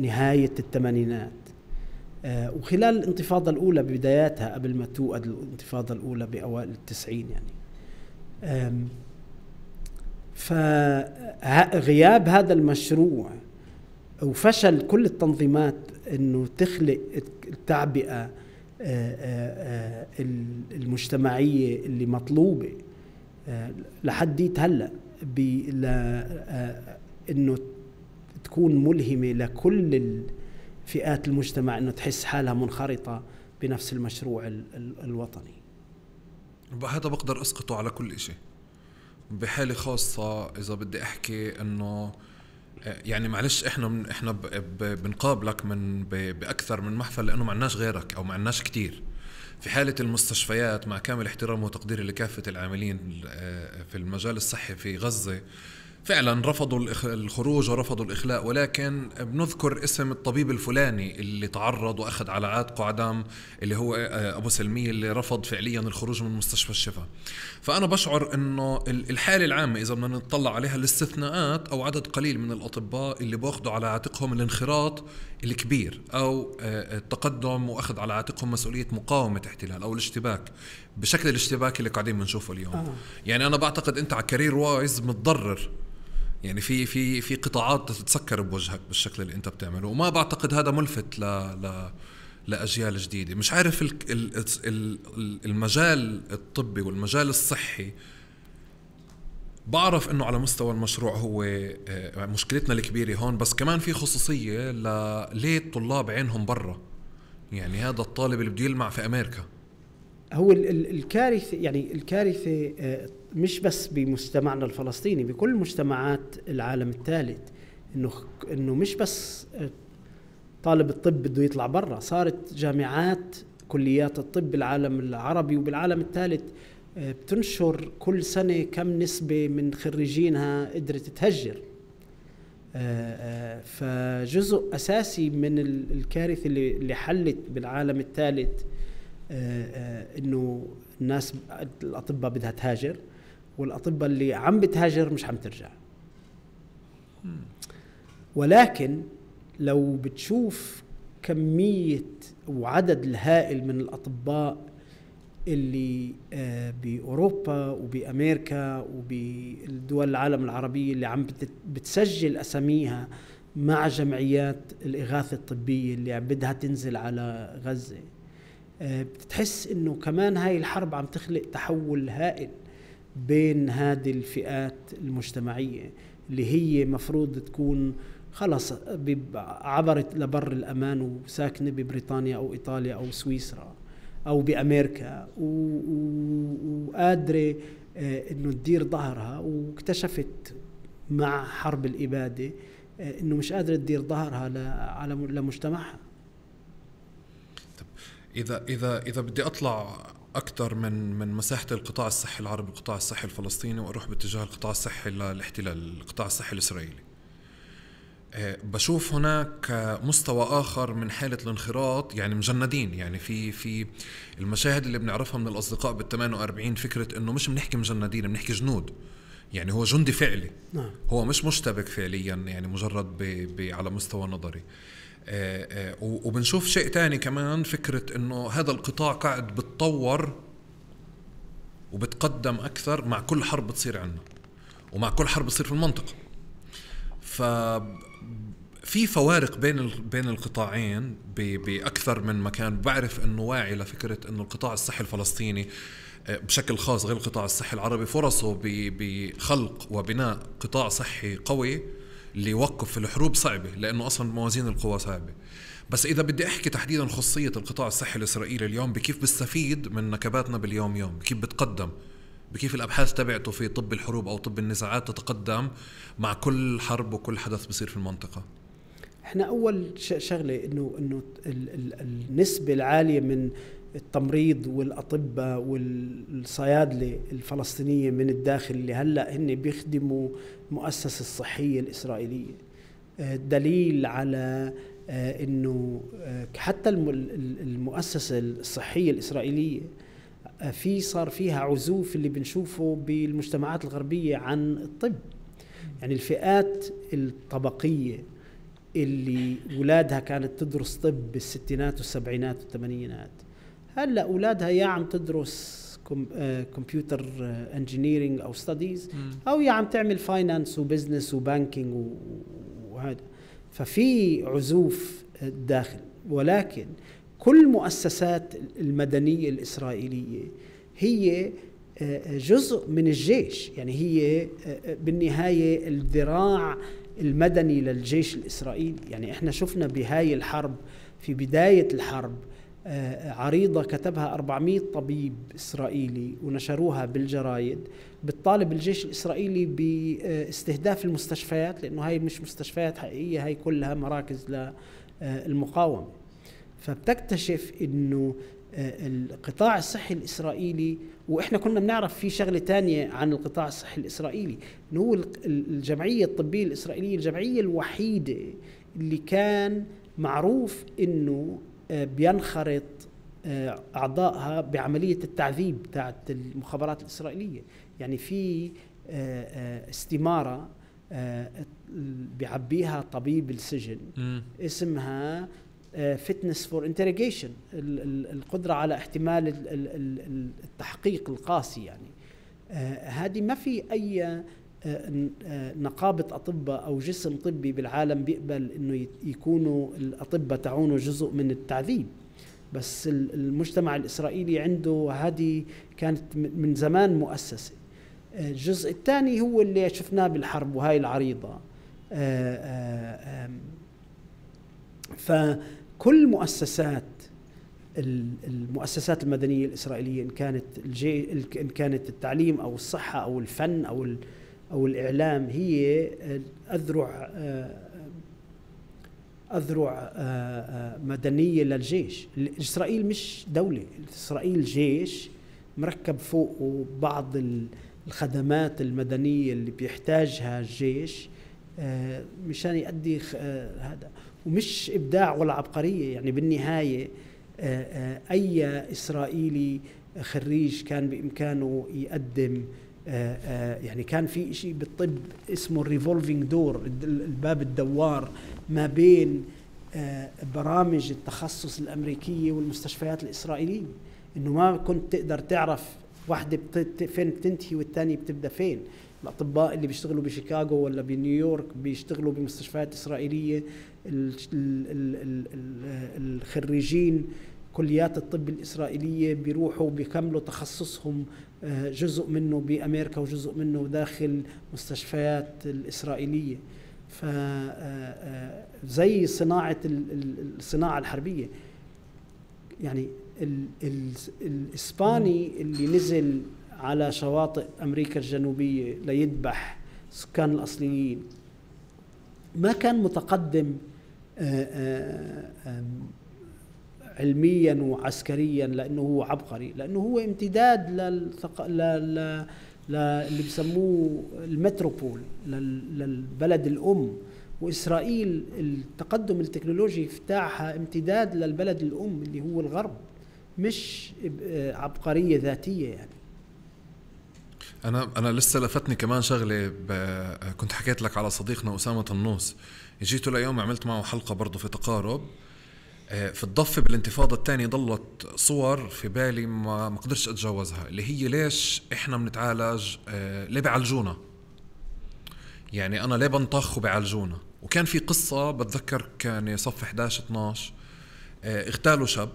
نهاية الثمانينات. وخلال الانتفاضة الأولى ببداياتها قبل ما توقد الانتفاضة الأولى بأوائل التسعين يعني. فغياب هذا المشروع وفشل كل التنظيمات إنه تخلق التعبئة المجتمعية اللي مطلوبة لحديت هلأ إنه تكون ملهمة لكل فئات المجتمع، إنه تحس حالها منخرطة بنفس المشروع ال ال الوطني. هذا بقدر أسقطه على كل شيء. بحالة خاصة إذا بدي أحكي إنه يعني معلش إحنا من إحنا بنقابلك من بأكثر من محفل لأنه ما عندناش غيرك أو ما عندناش كتير. في حالة المستشفيات مع كامل احترام وتقديري لكافة العاملين في المجال الصحي في غزة، فعلا رفضوا الخروج ورفضوا الإخلاء، ولكن بنذكر اسم الطبيب الفلاني اللي تعرض وأخذ على عاتقه عدم، اللي هو أبو سلمية اللي رفض فعليا الخروج من مستشفى الشفا. فأنا بشعر أنه الحالة العامة إذا بدنا نطلع عليها الاستثناءات أو عدد قليل من الأطباء اللي بأخذوا على عاتقهم الانخراط الكبير أو التقدم وأخذ على عاتقهم مسؤولية مقاومة احتلال أو الاشتباك بشكل الاشتباك اللي قاعدين بنشوفه اليوم. آه. يعني أنا بعتقد أنت على كارير وايز متضرر، يعني في في في قطاعات تتسكر بوجهك بالشكل اللي انت بتعمله، وما بعتقد هذا ملفت ل ل لاجيال جديده. مش عارف ال ال المجال الطبي والمجال الصحي، بعرف انه على مستوى المشروع هو مشكلتنا الكبيره هون، بس كمان في خصوصيه ليه الطلاب عينهم برا. يعني هذا الطالب اللي بده يلمع في امريكا، هو الكارثه يعني الكارثه مش بس بمجتمعنا الفلسطيني، بكل مجتمعات العالم الثالث، انه انه مش بس طالب الطب بده يطلع برا. صارت جامعات كليات الطب بالعالم العربي وبالعالم الثالث بتنشر كل سنه كم نسبه من خريجينها قدرت تهجر. فجزء اساسي من الكارثه اللي حلت بالعالم الثالث إنه الناس الأطباء بدها تهاجر، والأطباء اللي عم بتهاجر مش عم ترجع. ولكن لو بتشوف كمية وعدد الهائل من الأطباء اللي بأوروبا وبأمريكا وبالدول العالم العربية اللي عم بتسجل أساميها مع جمعيات الإغاثة الطبية اللي بدها تنزل على غزة، بتحس إنه كمان هاي الحرب عم تخلق تحول هائل بين هذه الفئات المجتمعية اللي هي مفروض تكون خلص عبرت لبر الأمان وساكنة ببريطانيا أو إيطاليا أو سويسرا أو بأمريكا وقادرة إنه تدير ظهرها، واكتشفت مع حرب الإبادة إنه مش قادرة تدير ظهرها على لمجتمعها. طب إذا إذا إذا بدي أطلع أكثر من من مساحة القطاع الصحي العربي القطاع الصحي الفلسطيني وأروح باتجاه القطاع الصحي للاحتلال القطاع الصحي الإسرائيلي، بشوف هناك مستوى آخر من حالة الانخراط، يعني مجندين. يعني في في المشاهد اللي بنعرفها من الأصدقاء بالثمانية وأربعين فكرة إنه مش بنحكي مجندين بنحكي جنود، يعني هو جندي فعلي. نعم. هو مش مشتبك فعليا، يعني مجرد ب ب على مستوى نظري. آآ آآ وبنشوف شيء تاني كمان، فكرة إنه هذا القطاع قاعد بتطور وبتقدم أكثر مع كل حرب بتصير عنا ومع كل حرب بتصير في المنطقة. ففي فوارق بين بين القطاعين بأكثر من مكان. بعرف إنه واعي لفكرة إنه القطاع الصحي الفلسطيني بشكل خاص غير القطاع الصحي العربي فرصه بخلق وبناء قطاع صحي قوي اللي يوقف في الحروب صعبة، لأنه أصلا موازين القوى صعبة. بس إذا بدي أحكي تحديدا خصية القطاع الصحي الإسرائيلي اليوم، بكيف بيستفيد من نكباتنا باليوم يوم، بكيف بتقدم، بكيف الأبحاث تبعته في طب الحروب أو طب النزاعات تتقدم مع كل حرب وكل حدث بصير في المنطقة. احنا أول شغلة إنه إنه النسبة العالية من التمريض والأطباء والصيادلة الفلسطينية من الداخل اللي هلأ هن بيخدموا مؤسسة الصحية الإسرائيلية دليل على إنه حتى المؤسسة الصحية الإسرائيلية في صار فيها عزوف اللي بنشوفه بالمجتمعات الغربية عن الطب. يعني الفئات الطبقية اللي أولادها كانت تدرس طب بالستينات والسبعينات والثمانينات، هلا أولادها يا عم تدرس كمبيوتر انجينيرينج أو ستاديز، أو يا عم تعمل فاينانس وبزنس وبانكينج وهذا. ففي عزوف داخل، ولكن كل مؤسسات المدنية الإسرائيلية هي جزء من الجيش. يعني هي بالنهاية الذراع المدني للجيش الإسرائيلي. يعني احنا شفنا بهاي الحرب في بداية الحرب عريضة كتبها أربعمائة طبيب إسرائيلي ونشروها بالجرايد بتطالب الجيش الإسرائيلي باستهداف المستشفيات، لأنه هاي مش مستشفيات حقيقية، هاي كلها مراكز للمقاومة. فبتكتشف إنه القطاع الصحي الإسرائيلي، وإحنا كنا بنعرف في شغلة تانية عن القطاع الصحي الإسرائيلي، إنه هو الجمعية الطبية الإسرائيلية الجمعية الوحيدة اللي كان معروف إنه بينخرط أعضائها بعملية التعذيب تاعت المخابرات الإسرائيلية. يعني في استمارة بيعبيها طبيب السجن اسمها fitness for interrogation، القدرة على احتمال التحقيق القاسي. يعني هذه ما في أي نقابة أطباء أو جسم طبي بالعالم بيقبل إنه يكونوا الأطباء تعونه جزء من التعذيب. بس المجتمع الإسرائيلي عنده هذه كانت من زمان مؤسسة. الجزء الثاني هو اللي شفناه بالحرب وهاي العريضة. فكل مؤسسات المؤسسات المدنية الإسرائيلية، إن كانت الجي إن كانت التعليم أو الصحة أو الفن أو أو الإعلام، هي أذرع أذرع مدنية للجيش. إسرائيل مش دولة، إسرائيل جيش مركب فوقه بعض الخدمات المدنية اللي بيحتاجها الجيش مشان يؤدي هذا، ومش إبداع ولا عبقرية. يعني بالنهاية أي إسرائيلي خريج كان بإمكانه يقدم، يعني كان في شيء بالطب اسمه الريفولفينج دور، الباب الدوار ما بين برامج التخصص الأمريكية والمستشفيات الإسرائيلية، إنه ما كنت تقدر تعرف واحدة فين بتنتهي والتانية بتبدأ فين. الأطباء اللي بيشتغلوا بشيكاغو ولا بنيويورك بيشتغلوا بمستشفيات إسرائيلية، الخريجين كليات الطب الإسرائيلية بيروحوا بيكملوا تخصصهم، جزء منه بأمريكا وجزء منه داخل مستشفيات الإسرائيلية. فزي صناعة الصناعة الحربية، يعني الإسباني اللي نزل على شواطئ أمريكا الجنوبية ليذبح سكان الأصليين ما كان متقدم علميا وعسكريا لأنه هو عبقري، لأنه هو امتداد للثق... لل... اللي بسموه المتروبول، للبلد الأم. وإسرائيل التقدم التكنولوجي بتاعها امتداد للبلد الأم اللي هو الغرب، مش عبقرية ذاتية. يعني أنا أنا لسه لفتني كمان شغلة، كنت حكيت لك على صديقنا أسامة النوس، جيته ليوم عملت معه حلقة برضو في تقارب في الضفة بالانتفاضة الثانية. ضلت صور في بالي ما ما قدرتش أتجاوزها، اللي هي ليش إحنا بنتعالج، ليه بيعالجونا، يعني أنا ليه بنطخ وبيعالجونا. وكان في قصة بتذكر كان صف إحدى عشر اثناشر، اغتالوا شاب،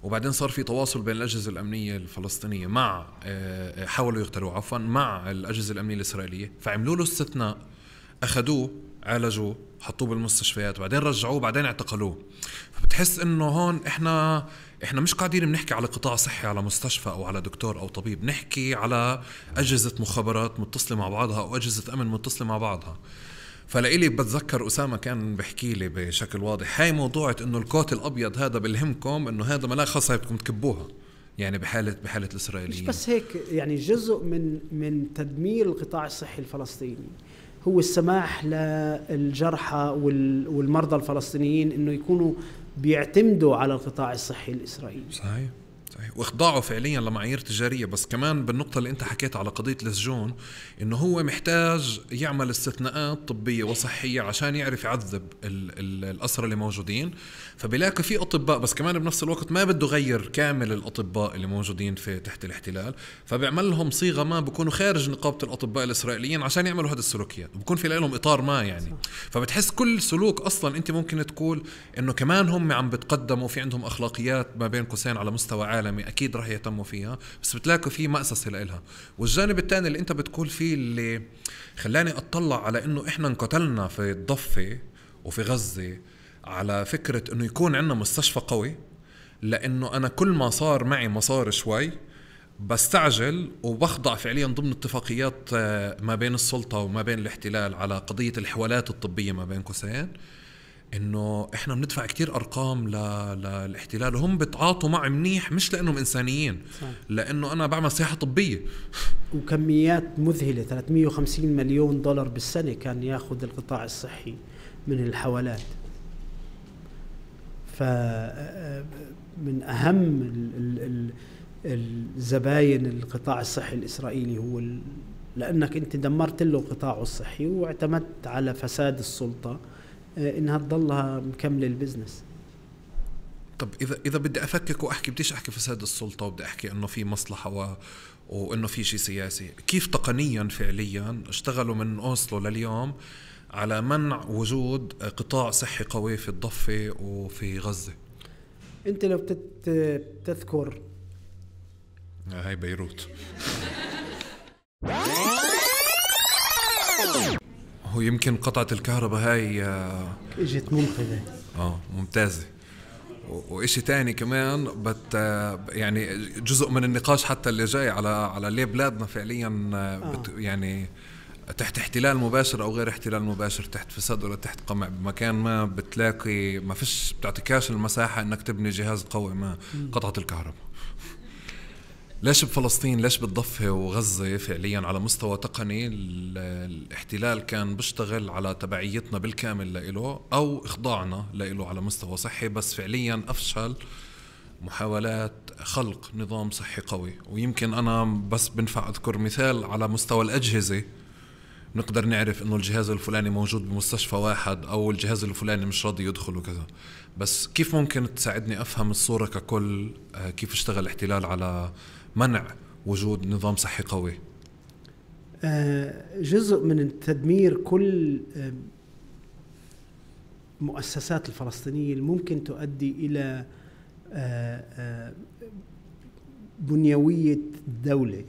وبعدين صار في تواصل بين الأجهزة الأمنية الفلسطينية مع حاولوا يغتالوا عفوا مع الأجهزة الأمنية الإسرائيلية، فعملوا له استثناء، أخذوه عالجوه حطوه بالمستشفيات وبعدين رجعوه بعدين اعتقلوه. فبتحس إنه هون إحنا إحنا مش قاعدين بنحكي على قطاع صحي، على مستشفى أو على دكتور أو طبيب، نحكي على أجهزة مخابرات متصلة مع بعضها أو أجهزة أمن متصلة مع بعضها. فلإلي بتذكر أسامة كان بحكي لي بشكل واضح هاي موضوعة إنه الكوت الأبيض هذا بالهمكم، إنه هذا ملاك خاصة بدكم تكبوها، يعني بحالة بحالة الإسرائيليين. مش بس هيك، يعني جزء من من تدمير القطاع الصحي الفلسطيني هو السماح للجرحى والمرضى الفلسطينيين إنه يكونوا بيعتمدوا على القطاع الصحي الإسرائيلي. صحيح صحيح، واخضاعه فعليا لمعايير تجارية. بس كمان بالنقطة اللي انت حكيت على قضية السجون، انه هو محتاج يعمل استثناءات طبية وصحية عشان يعرف يعذب الأسرى اللي موجودين. فبلاقي في أطباء، بس كمان بنفس الوقت ما بده غير كامل الأطباء اللي موجودين في تحت الاحتلال، فبيعمل لهم صيغة ما بيكونوا خارج نقابة الأطباء الإسرائيليين عشان يعملوا هذه السلوكيات، بكون في لهم إطار ما يعني. فبتحس كل سلوك أصلا انت ممكن تقول انه كمان هم عم بتقدموا في عندهم أخلاقيات ما بين قوسين على مستوى عالمي، أكيد رح يهتموا فيها، بس بتلاقوا في مأسسة لإلها. والجانب الثاني اللي أنت بتقول فيه اللي خلاني أطلع على إنه إحنا انقتلنا في الضفة وفي غزة على فكرة إنه يكون عندنا مستشفى قوي، لأنه أنا كل ما صار معي مصار شوي بستعجل وبخضع فعليا ضمن اتفاقيات ما بين السلطة وما بين الاحتلال على قضية الحوالات الطبية ما بين قوسين، إنه إحنا بندفع كتير أرقام للاحتلال وهم بتعاطوا معي منيح، مش لأنهم إنسانيين، صح. لأنه أنا بعمل سياحة طبية وكميات مذهلة، ثلاثمية وخمسين مليون دولار بالسنة كان ياخذ القطاع الصحي من الحوالات. فمن أهم الزباين القطاع الصحي الإسرائيلي هو لأنك أنت دمرت له قطاعه الصحي واعتمدت على فساد السلطة إنها تضلها مكملة البزنس. طب إذا إذا بدي أفكك وأحكي، بديش أحكي فساد السلطة وبدي أحكي إنه في مصلحة و... وإنه في شيء سياسي، كيف تقنيا فعليا اشتغلوا من أوسلو لليوم على منع وجود قطاع صحي قوي في الضفة وفي غزة؟ أنت لو تذكر هاي بيروت هو يمكن قطعة الكهرباء هاي اجت منقذة اه ممتازة. وإشي تاني كمان بت يعني جزء من النقاش حتى اللي جاي على على ليه بلادنا فعليا آه. بت يعني تحت احتلال مباشر او غير احتلال مباشر، تحت فساد ولا تحت قمع، بمكان ما بتلاقي ما فيش بتعطيكاش المساحة انك تبني جهاز قوي ما. قطعة الكهرباء ليش بفلسطين، ليش بالضفة وغزة فعليا على مستوى تقني الاحتلال كان بيشتغل على تبعيتنا بالكامل لإله أو إخضاعنا لإله على مستوى صحي، بس فعليا أفشل محاولات خلق نظام صحي قوي. ويمكن أنا بس بنفع أذكر مثال على مستوى الأجهزة، نقدر نعرف إنه الجهاز الفلاني موجود بمستشفى واحد أو الجهاز الفلاني مش راضي يدخل وكذا. بس كيف ممكن تساعدني أفهم الصورة ككل؟ كيف اشتغل الاحتلال على منع وجود نظام صحي قوي؟ جزء من تدمير كل مؤسسات الفلسطينية اللي ممكن تؤدي إلى بنيوية الدولة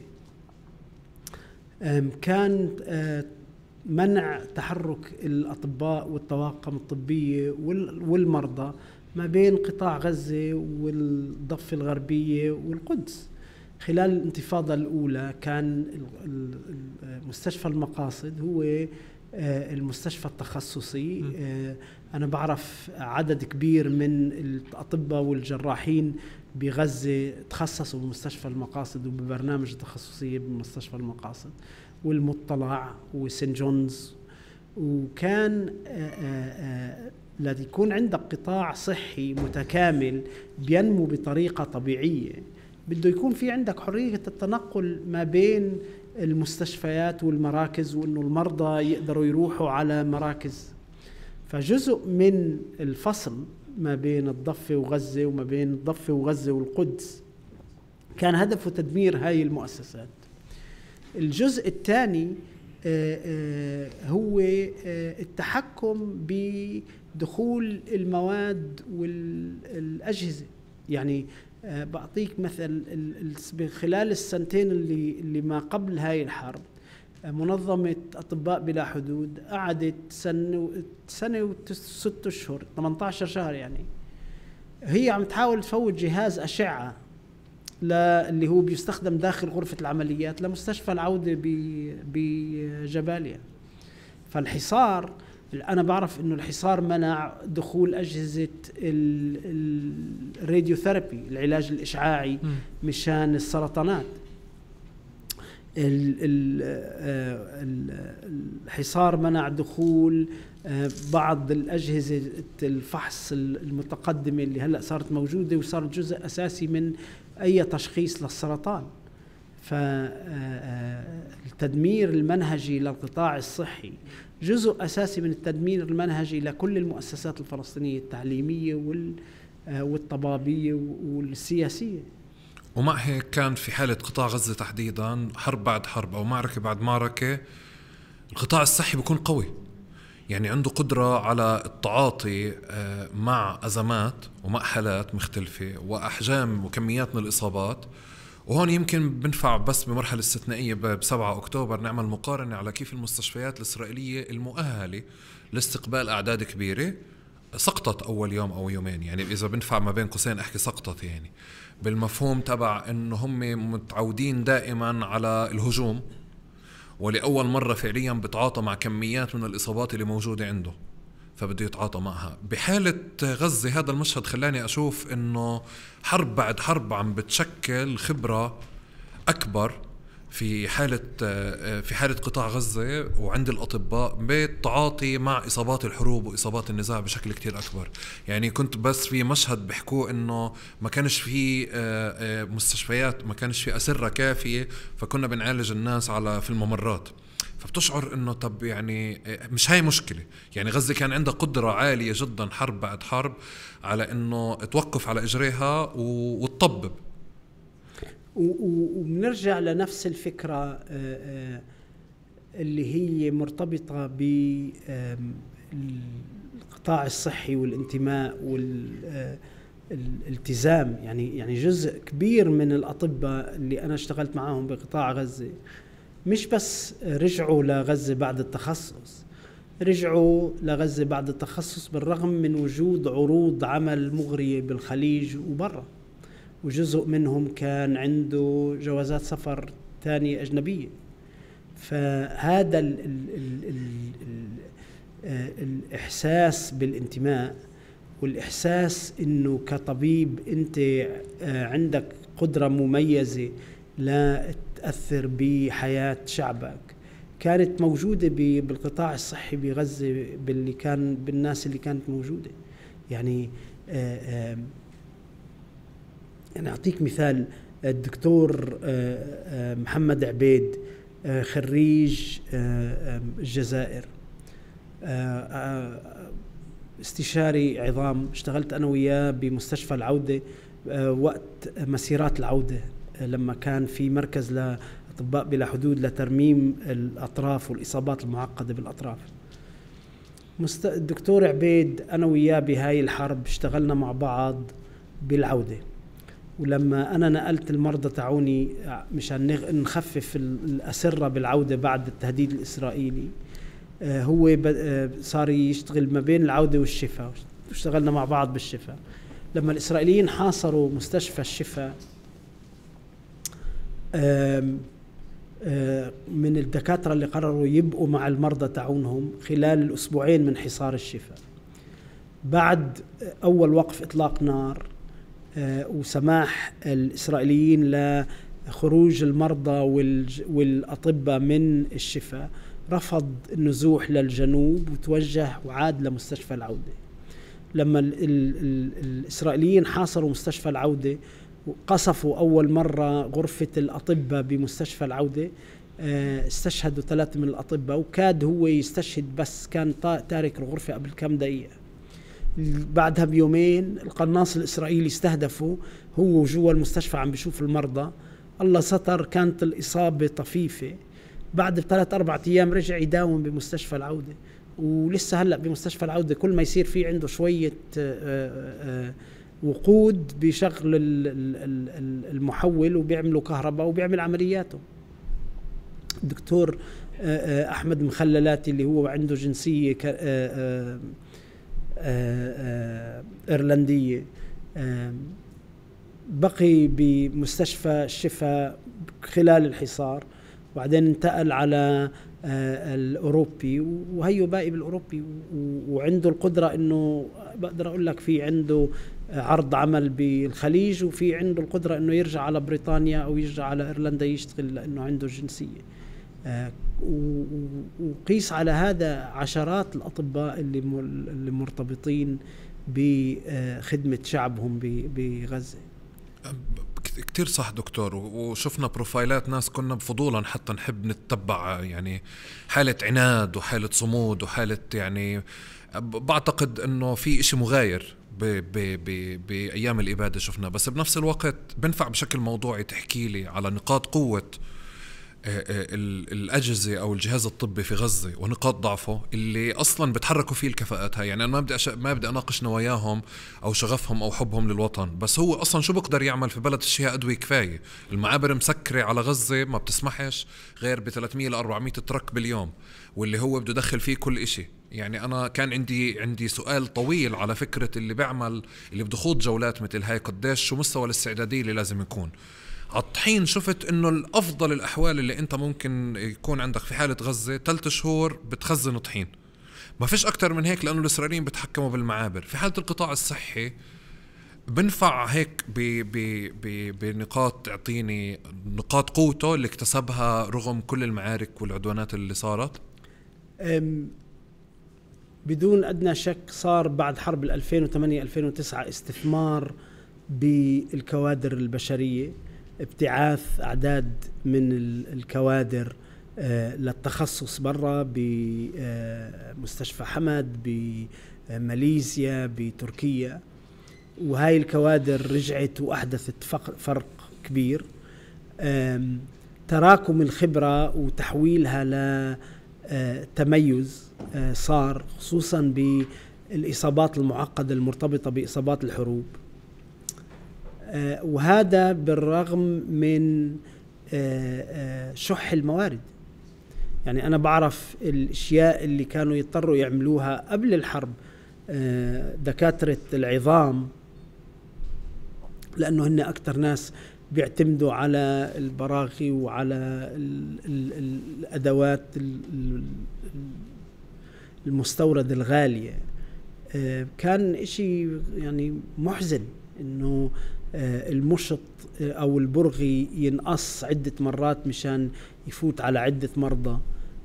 كان منع تحرك الأطباء والطواقم الطبية والمرضى ما بين قطاع غزة والضفة الغربية والقدس. خلال الانتفاضة الأولى كان مستشفى المقاصد هو المستشفى التخصصي. أنا بعرف عدد كبير من الأطباء والجراحين بغزة تخصصوا بمستشفى المقاصد وببرنامج تخصصية بمستشفى المقاصد والمطلع وسين جونز. وكان الذي يكون عندك قطاع صحي متكامل بينمو بطريقة طبيعية بده يكون في عندك حرية التنقل ما بين المستشفيات والمراكز، وإنه المرضى يقدروا يروحوا على مراكز. فجزء من الفصل ما بين الضفة وغزة وما بين الضفة وغزة والقدس كان هدفه تدمير هاي المؤسسات. الجزء الثاني هو التحكم بدخول المواد والأجهزة. يعني بعطيك مثل، خلال السنتين اللي اللي ما قبل هاي الحرب منظمة أطباء بلا حدود قعدت سنة سنة وست أشهر ثمانية عشر شهر، يعني هي عم تحاول تفوت جهاز أشعة اللي هو بيستخدم داخل غرفة العمليات لمستشفى العودة بجباليا. فالحصار، أنا بعرف إنه الحصار منع دخول أجهزة الراديوثيرابي، العلاج الإشعاعي مشان السرطانات. الحصار منع دخول بعض الأجهزة الفحص المتقدمة اللي هلأ صارت موجودة وصارت جزء أساسي من أي تشخيص للسرطان. فالتدمير المنهجي للقطاع الصحي جزء أساسي من التدمير المنهجي لكل المؤسسات الفلسطينية التعليمية والطبابية والسياسية. ومع هيك كان في حالة قطاع غزة تحديدا، حرب بعد حرب أو معركة بعد معركة، القطاع الصحي بيكون قوي، يعني عنده قدرة على التعاطي مع أزمات ومع حالات مختلفة وأحجام وكميات من الإصابات. وهون يمكن بنفع بس بمرحلة استثنائية بسبعة أكتوبر نعمل مقارنة على كيف المستشفيات الإسرائيلية المؤهلة لاستقبال أعداد كبيرة سقطت أول يوم أو يومين. يعني إذا بنفع ما بين قوسين أحكي سقطت، يعني بالمفهوم تبع إنه هم متعودين دائما على الهجوم، ولأول مرة فعليا بتعاطى مع كميات من الإصابات اللي موجودة عنده، فبده يتعاطى معها. بحالة غزة هذا المشهد خلاني أشوف إنه حرب بعد حرب عم بتشكل خبرة أكبر في حالة في حالة قطاع غزة وعند الأطباء بالتعاطي مع إصابات الحروب وإصابات النزاع بشكل كتير أكبر. يعني كنت بس في مشهد بحكوه إنه ما كانش في مستشفيات، ما كانش في أسرة كافية، فكنا بنعالج الناس على في الممرات. فبتشعر إنه طب يعني مش هاي مشكلة. يعني غزة كان عندها قدرة عالية جدا حرب بعد حرب على إنه توقف على إجريها وتطبب. وبنرجع لنفس الفكرة اللي هي مرتبطة بالقطاع الصحي والانتماء والالتزام. يعني يعني جزء كبير من الأطباء اللي أنا اشتغلت معهم بقطاع غزة مش بس رجعوا لغزة بعد التخصص، رجعوا لغزة بعد التخصص بالرغم من وجود عروض عمل مغرية بالخليج وبرا، وجزء منهم كان عنده جوازات سفر تانية أجنبية. فهذا ال ال ال ال ال الإحساس بالانتماء والإحساس إنه كطبيب أنت عندك قدرة مميزة لا تأثر بحياة شعبك كانت موجودة بالقطاع الصحي بغزة، باللي كان، بالناس اللي كانت موجودة. يعني آآ آآ يعني أعطيك مثال، الدكتور محمد عبيد خريج الجزائر، استشاري عظام، اشتغلت أنا وياه بمستشفى العودة وقت مسيرات العودة لما كان في مركز لأطباء بلا حدود لترميم الأطراف والإصابات المعقدة بالأطراف. الدكتور عبيد أنا وياه بهاي الحرب اشتغلنا مع بعض بالعودة، ولما أنا نقلت المرضى تعوني مشان نخفف الأسرة بالعودة بعد التهديد الإسرائيلي، هو صار يشتغل ما بين العودة والشفاء، اشتغلنا مع بعض بالشفاء. لما الإسرائيليين حاصروا مستشفى الشفاء، من الدكاترة اللي قرروا يبقوا مع المرضى تعونهم خلال الأسبوعين من حصار الشفاء. بعد أول وقف إطلاق نار وسماح الإسرائيليين لخروج المرضى والأطباء من الشفاء، رفض النزوح للجنوب وتوجه وعاد لمستشفى العودة. لما ال ال ال الإسرائيليين حاصروا مستشفى العودة وقصفوا أول مرة غرفة الأطباء بمستشفى العودة، استشهدوا ثلاثة من الأطباء، وكاد هو يستشهد بس كان تارك الغرفة قبل كم دقيقة. بعدها بيومين القناص الإسرائيلي استهدفه هو جوا المستشفى عم بيشوف المرضى، الله ستر كانت الإصابة طفيفة. بعد بثلاث أربعة أيام رجع يداوم بمستشفى العودة، ولسه هلأ بمستشفى العودة كل ما يصير فيه عنده شوية وقود بشغل المحول وبيعملوا كهرباء وبيعمل عملياته. الدكتور أحمد مخللاتي اللي هو عنده جنسية إيرلندية بقي بمستشفى الشفاء خلال الحصار، وبعدين انتقل على الأوروبي وهيو باقي بالأوروبي، وعنده القدرة إنه بقدر أقول لك في عنده عرض عمل بالخليج، وفي عنده القدرة إنه يرجع على بريطانيا أو يرجع على إيرلندا يشتغل لأنه عنده الجنسية. وقيس على هذا عشرات الأطباء اللي اللي مرتبطين بخدمة شعبهم بغزة. كتير صح دكتور، وشفنا بروفايلات ناس كنا بفضولا حتى نحب نتبع، يعني حالة عناد وحالة صمود وحالة، يعني بعتقد انه في اشي مغاير بأيام الإبادة شفنا. بس بنفس الوقت بنفع بشكل موضوعي تحكي لي على نقاط قوة الأجهزة أو الجهاز الطبي في غزة ونقاط ضعفه اللي أصلا بتحركوا فيه الكفاءات هاي. يعني أنا ما بدي أش... ما بدي أناقش نواياهم أو شغفهم أو حبهم للوطن، بس هو أصلا شو بقدر يعمل في بلد فيها أدوية كفاية؟ المعابر مسكرة على غزة ما بتسمحش غير ب ثلاثمية إلى أربعمية ترك باليوم، واللي هو بده يدخل فيه كل إشي. يعني أنا كان عندي عندي سؤال طويل على فكرة اللي بيعمل اللي بده خوض جولات مثل هاي، قديش شو مستوى الاستعدادية اللي لازم يكون. عالطحين شفت انه الافضل الاحوال اللي انت ممكن يكون عندك في حالة غزة ثلاث شهور بتخزن طحين، ما فيش اكتر من هيك، لانه الاسرائيليين بتحكموا بالمعابر. في حالة القطاع الصحي بنفع هيك بنقاط، تعطيني نقاط قوته اللي اكتسبها رغم كل المعارك والعدوانات اللي صارت. بدون ادنى شك صار بعد حرب ألفين وثمانية ألفين وتسعة استثمار بالكوادر البشرية، ابتعاث أعداد من الكوادر للتخصص برا بمستشفى حمد بماليزيا بتركيا، وهاي الكوادر رجعت وأحدثت فرق كبير. تراكم الخبرة وتحويلها لتميز صار، خصوصا بالإصابات المعقدة المرتبطة بإصابات الحروب، وهذا بالرغم من شح الموارد. يعني أنا بعرف الأشياء اللي كانوا يضطروا يعملوها قبل الحرب دكاترة العظام، لأنه هن أكتر ناس بيعتمدوا على البراغي وعلى الأدوات المستورد الغالية. كان إشي يعني محزن إنه المشط أو البرغي ينقص عدة مرات مشان يفوت على عدة مرضى،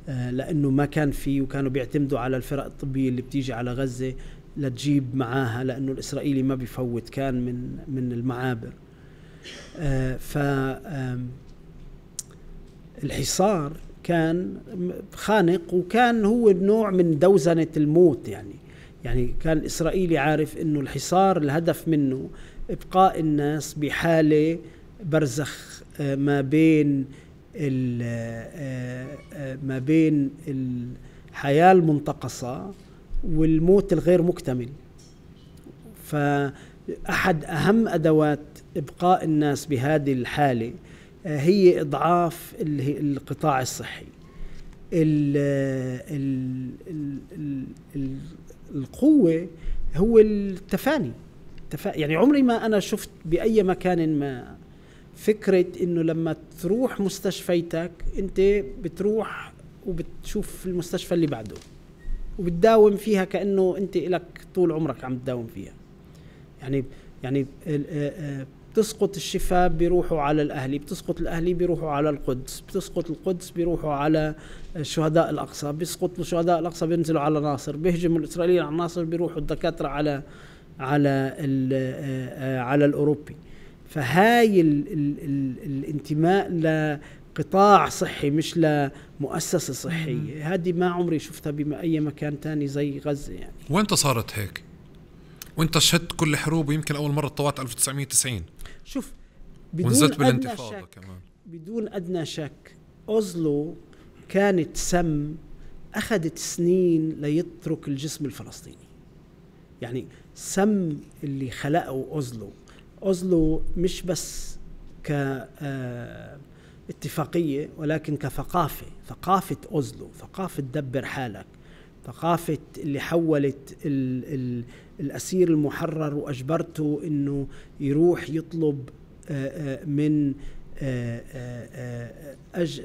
لأنه ما كان فيه، وكانوا بيعتمدوا على الفرق الطبية اللي بتيجي على غزة لتجيب معاها، لأنه الإسرائيلي ما بيفوت كان من من المعابر. آه ف الحصار كان خانق، وكان هو نوع من دوزنة الموت. يعني يعني كان الإسرائيلي عارف إنه الحصار الهدف منه إبقاء الناس بحالة برزخ ما بين ما بين الحياة المنتقصة والموت الغير مكتمل. فأحد أهم أدوات إبقاء الناس بهذه الحالة هي إضعاف القطاع الصحي. ال ال ال ال القوة هو التفاني. يعني عمري ما أنا شفت بأي مكان ما فكرة إنه لما تروح مستشفيتك أنت بتروح وبتشوف المستشفى اللي بعده وبتداوم فيها كأنه أنت لك طول عمرك عم تداوم فيها. يعني يعني بتسقط الشفاء بيروحوا على الأهلي، بتسقط الأهلي بيروحوا على القدس، بتسقط القدس بيروحوا على شهداء الأقصى، بيسقط شهداء الأقصى بينزلوا على ناصر، بيهجموا الإسرائيليين على ناصر بيروحوا الدكاترة على على على الأوروبي. فهاي ال ال ال الانتماء لقطاع صحي مش لمؤسسة صحية، هذه ما عمري شفتها بأي مكان تاني زي غزة. يعني وانت صارت هيك؟ وانت شهدت كل حروب، ويمكن أول مرة طوعت ألف وتسعمية وتسعين. شوف بدون أدنى شك كمان. بدون أدنى شك أوزلو كانت سم أخذت سنين ليترك الجسم الفلسطيني. يعني سم اللي خلقه أوزلو أوزلو مش بس كاتفاقية ولكن كثقافة. ثقافة أوزلو ثقافة دبر حالك، ثقافة اللي حولت ال ال الأسير المحرر وأجبرته إنه يروح يطلب من أج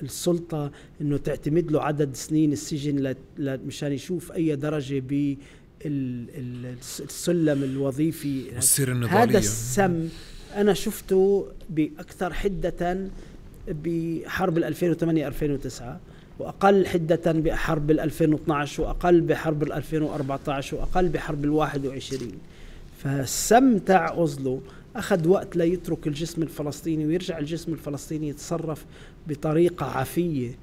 السلطة إنه تعتمد له عدد سنين السجن مشان يشوف أي درجة بالسلم الوظيفي. هذا السم أنا شفته بأكثر حدة بحرب ألفين وثمانية ألفين وتسعة، وأقل حدة بحرب ألفين واثني عشر، وأقل بحرب ألفين وأربعة عشر، وأقل بحرب الواحد وعشرين. فالسم تاع أوزلو أخذ وقت ليترك الجسم الفلسطيني ويرجع الجسم الفلسطيني يتصرف بطريقة عفية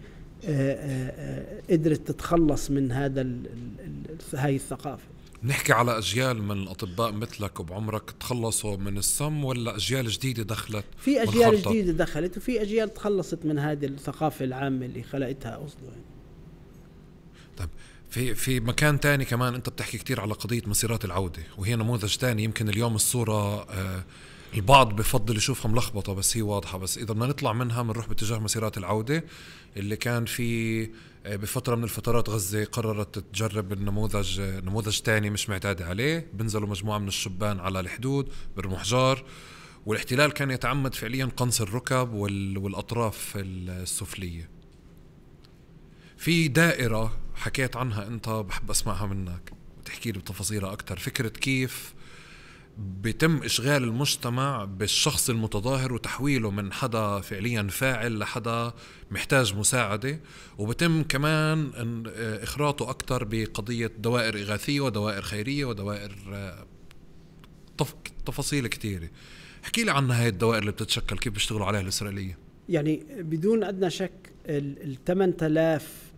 قدرت تتخلص من هذا هاي الثقافة. نحكي على أجيال من الأطباء مثلك وبعمرك تخلصوا من السم، ولا أجيال جديدة دخلت؟ في أجيال جديدة دخلت، وفي أجيال تخلصت من هذه الثقافة العامة اللي خلقتها أوزلو. طيب في في مكان تاني كمان أنت بتحكي كتير على قضية مسيرات العودة، وهي نموذج تاني. يمكن اليوم الصورة آه البعض بفضل يشوفها ملخبطة بس هي واضحة، بس إذا بدنا نطلع منها بنروح باتجاه مسيرات العودة اللي كان في بفترة من الفترات غزة قررت تجرب النموذج نموذج تاني مش معتاد عليه. بنزلوا مجموعة من الشبان على الحدود برموا حجار، والاحتلال كان يتعمد فعليا قنص الركب والأطراف السفلية. في دائرة حكيت عنها أنت بحب أسمعها منك وتحكي لي بتفاصيلها أكتر، فكرة كيف بيتم إشغال المجتمع بالشخص المتظاهر وتحويله من حدا فعليا فاعل لحدا محتاج مساعدة، وبتم كمان إخراطه أكتر بقضية دوائر إغاثية ودوائر خيرية ودوائر تفاصيل كتيرة. احكي لي عن هاي الدوائر اللي بتتشكل، كيف بيشتغلوا عليها الإسرائيلية؟ يعني بدون أدنى شك الثمان آلاف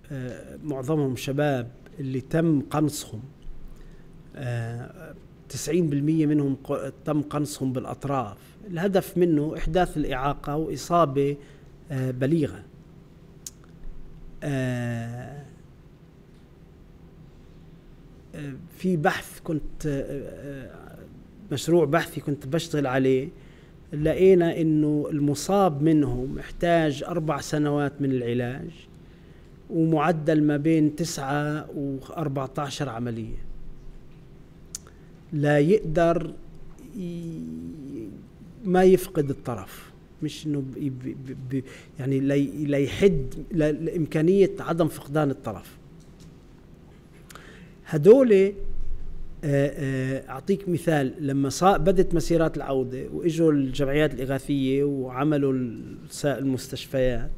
معظمهم شباب اللي تم قنصهم، تسعين بالمئة منهم تم قنصهم بالأطراف. الهدف منه إحداث الإعاقة وإصابة بليغة. في بحث كنت مشروع بحثي كنت بشتغل عليه، لقينا إنه المصاب منهم محتاج أربع سنوات من العلاج ومعدل ما بين تسعة وأربعة عشر عملية لا يقدر ما يفقد الطرف. مش إنه يعني لا يحد لإمكانية عدم فقدان الطرف. هدول أعطيك مثال، لما بدت مسيرات العودة وإجوا الجمعيات الإغاثية وعملوا المستشفيات،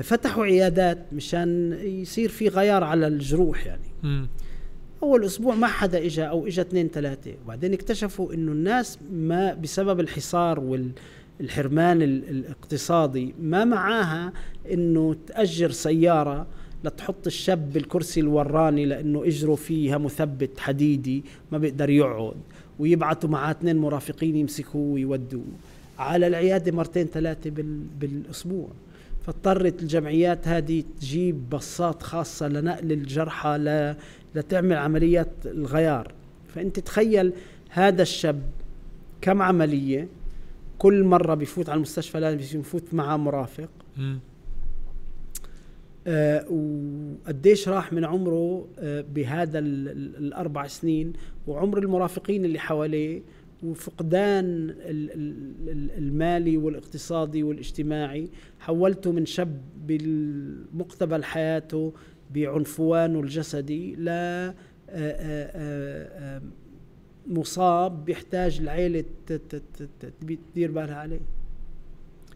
فتحوا عيادات مشان يصير في غيار على الجروح. يعني م. أول أسبوع ما حدا إجا أو إجا اثنين ثلاثة، وبعدين اكتشفوا إنه الناس ما بسبب الحصار والحرمان الاقتصادي ما معاها إنه تأجر سيارة لتحط الشاب بالكرسي الوراني لأنه إجره فيها مثبت حديدي ما بيقدر يقعد، ويبعتوا معاه اثنين مرافقين يمسكوه ويودوه على العيادة مرتين ثلاثة بالأسبوع. فاضطرت الجمعيات هذه تجيب بصات خاصة لنقل الجرحى ل... لتعمل عمليات الغيار. فأنت تخيل هذا الشاب كم عملية، كل مرة بيفوت على المستشفى لازم يفوت معاه مرافق. آه وقديش راح من عمره آه بهذا الأربع سنين، وعمر المرافقين اللي حواليه، وفقدان المالي والاقتصادي والاجتماعي. حولته من شاب بالمقتبل حياته بعنفوانه الجسدي ل مصاب بيحتاج العيلة تدير بالها عليه.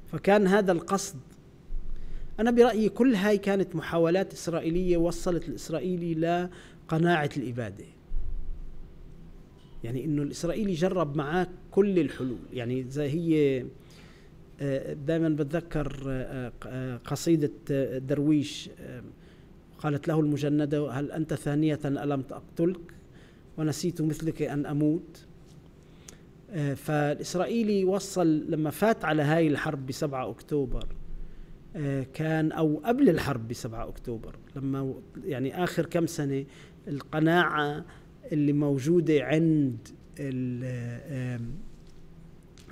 فكان هذا القصد. أنا برأيي كل هاي كانت محاولات إسرائيلية وصلت الإسرائيلي لقناعة الإبادة. يعني إنه الإسرائيلي جرب معاه كل الحلول. يعني زي هي دائما بتذكر قصيدة درويش قالت له المجندة: هل أنت ثانية ألم أقتلك ونسيت مثلك أن أموت. فالإسرائيلي وصل لما فات على هاي الحرب بسبعة أكتوبر، كان أو قبل الحرب بسبعة أكتوبر، لما يعني آخر كم سنة القناعة اللي موجودة عند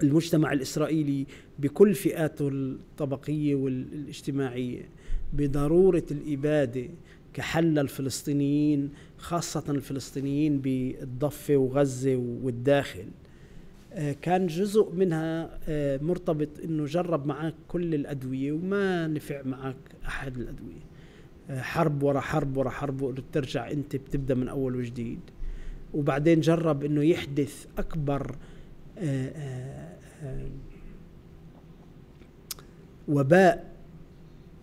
المجتمع الإسرائيلي بكل فئاته الطبقية والاجتماعية بضرورة الإبادة كحل الفلسطينيين، خاصة الفلسطينيين بالضفة وغزة والداخل، كان جزء منها مرتبط إنه جرب معك كل الأدوية وما نفع معك أحد الأدوية. حرب ورا حرب ورا حرب، وترجع أنت بتبدأ من أول وجديد. وبعدين جرب إنه يحدث أكبر آآ آآ وباء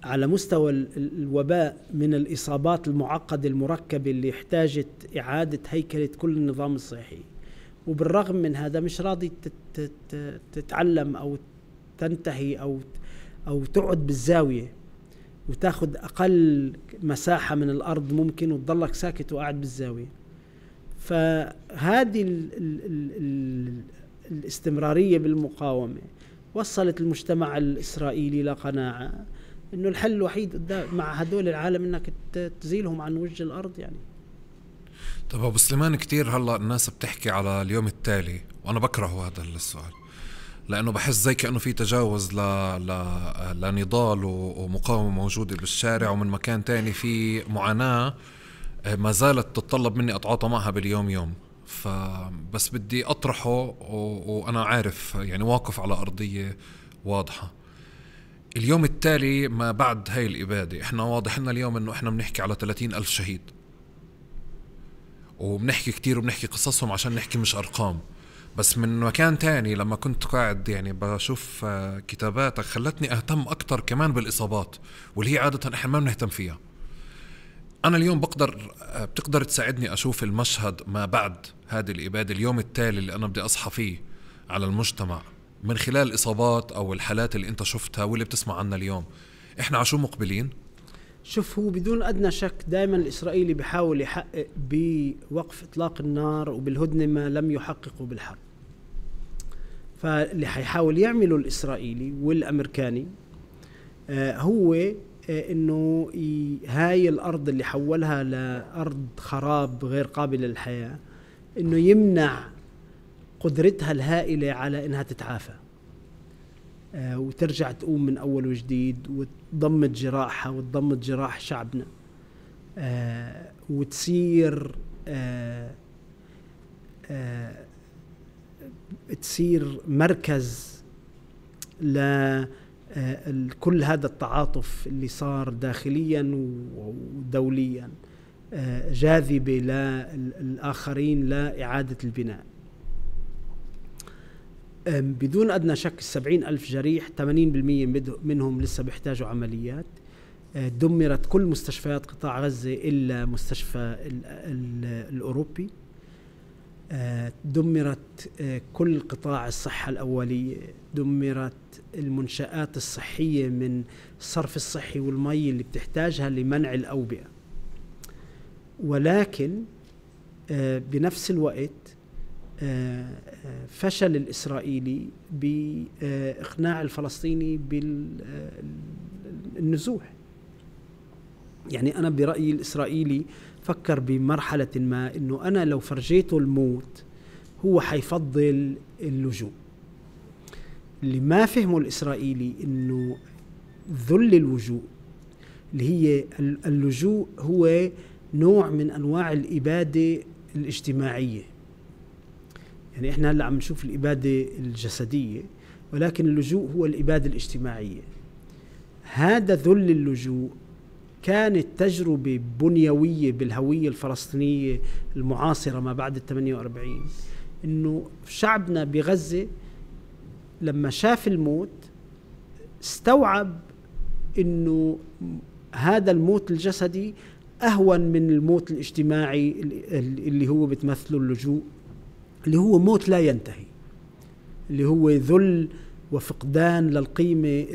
على مستوى الوباء من الإصابات المعقدة المركبة اللي احتاجت إعادة هيكلة كل النظام الصحي. وبالرغم من هذا مش راضي تتعلم أو تنتهي أو أو تقعد بالزاوية وتاخد أقل مساحة من الأرض ممكن وتضلك ساكت وقاعد بالزاوية. فهذه ال ال ال ال الاستمرارية بالمقاومة وصلت المجتمع الإسرائيلي لقناعة إنه الحل الوحيد مع هدول العالم إنك تزيلهم عن وجه الأرض. يعني طب أبو سليمان، كتير هلأ الناس بتحكي على اليوم التالي، وأنا بكره هذا السؤال لأنه بحس زي كأنه في تجاوز ل... ل... لنضال ومقاومة موجودة بالشارع، ومن مكان تاني في معاناة ما زالت تتطلب مني أتعاطى معها باليوم يوم. فبس بدي أطرحه و... وأنا عارف يعني واقف على أرضية واضحة. اليوم التالي ما بعد هاي الإبادة، إحنا واضح لنا اليوم إنه إحنا بنحكي على ثلاثين ألف شهيد، وبنحكي كتير وبنحكي قصصهم عشان نحكي مش أرقام. بس من مكان تاني لما كنت قاعد يعني بشوف كتاباتك خلتني أهتم أكتر كمان بالإصابات، واللي هي عادة إحنا ما بنهتم فيها. أنا اليوم بقدر بتقدر تساعدني أشوف المشهد ما بعد هذه الإبادة، اليوم التالي اللي أنا بدي أصحى فيه على المجتمع من خلال الإصابات أو الحالات اللي أنت شفتها واللي بتسمع عنها اليوم. إحنا عشو مقبلين؟ شوف، هو بدون أدنى شك دائما الإسرائيلي بيحاول يحقق بوقف إطلاق النار وبالهدنة ما لم يحققوا بالحرب. فاللي حيحاول يعمله الإسرائيلي والأمريكاني آه هو آه إنه هاي الأرض اللي حولها لأرض خراب غير قابلة للحياة، إنه يمنع قدرتها الهائلة على إنها تتعافى آه وترجع تقوم من أول وجديد وتضمد جراحها وتضمد جراح شعبنا آه وتصير آه آه تصير مركز لكل هذا التعاطف اللي صار داخليا ودوليا، آه جاذبة للآخرين لإعادة البناء. بدون أدنى شك السبعين ألف جريح ثمانين بالمئة منهم لسه بيحتاجوا عمليات. دمرت كل مستشفيات قطاع غزة إلا مستشفى ال ال الأوروبي. دمرت كل قطاع الصحة الأولية، دمرت المنشآت الصحية من الصرف الصحي والمي اللي بتحتاجها لمنع الأوبئة. ولكن بنفس الوقت فشل الإسرائيلي بإقناع الفلسطيني بالنزوح. يعني أنا برأيي الإسرائيلي فكر بمرحلة ما إنه أنا لو فرجيته الموت هو حيفضل اللجوء. اللي ما فهمه الإسرائيلي إنه ذل اللجوء اللي هي اللجوء هو نوع من أنواع الإبادة الاجتماعية. يعني إحنا هلأ عم نشوف الإبادة الجسدية، ولكن اللجوء هو الإبادة الاجتماعية. هذا ذل اللجوء كانت تجربة بنيوية بالهوية الفلسطينية المعاصرة ما بعد الثمانية وأربعين، إنه شعبنا بغزة لما شاف الموت استوعب إنه هذا الموت الجسدي أهون من الموت الاجتماعي اللي هو بتمثله اللجوء، اللي هو موت لا ينتهي، اللي هو ذل وفقدان للقيمة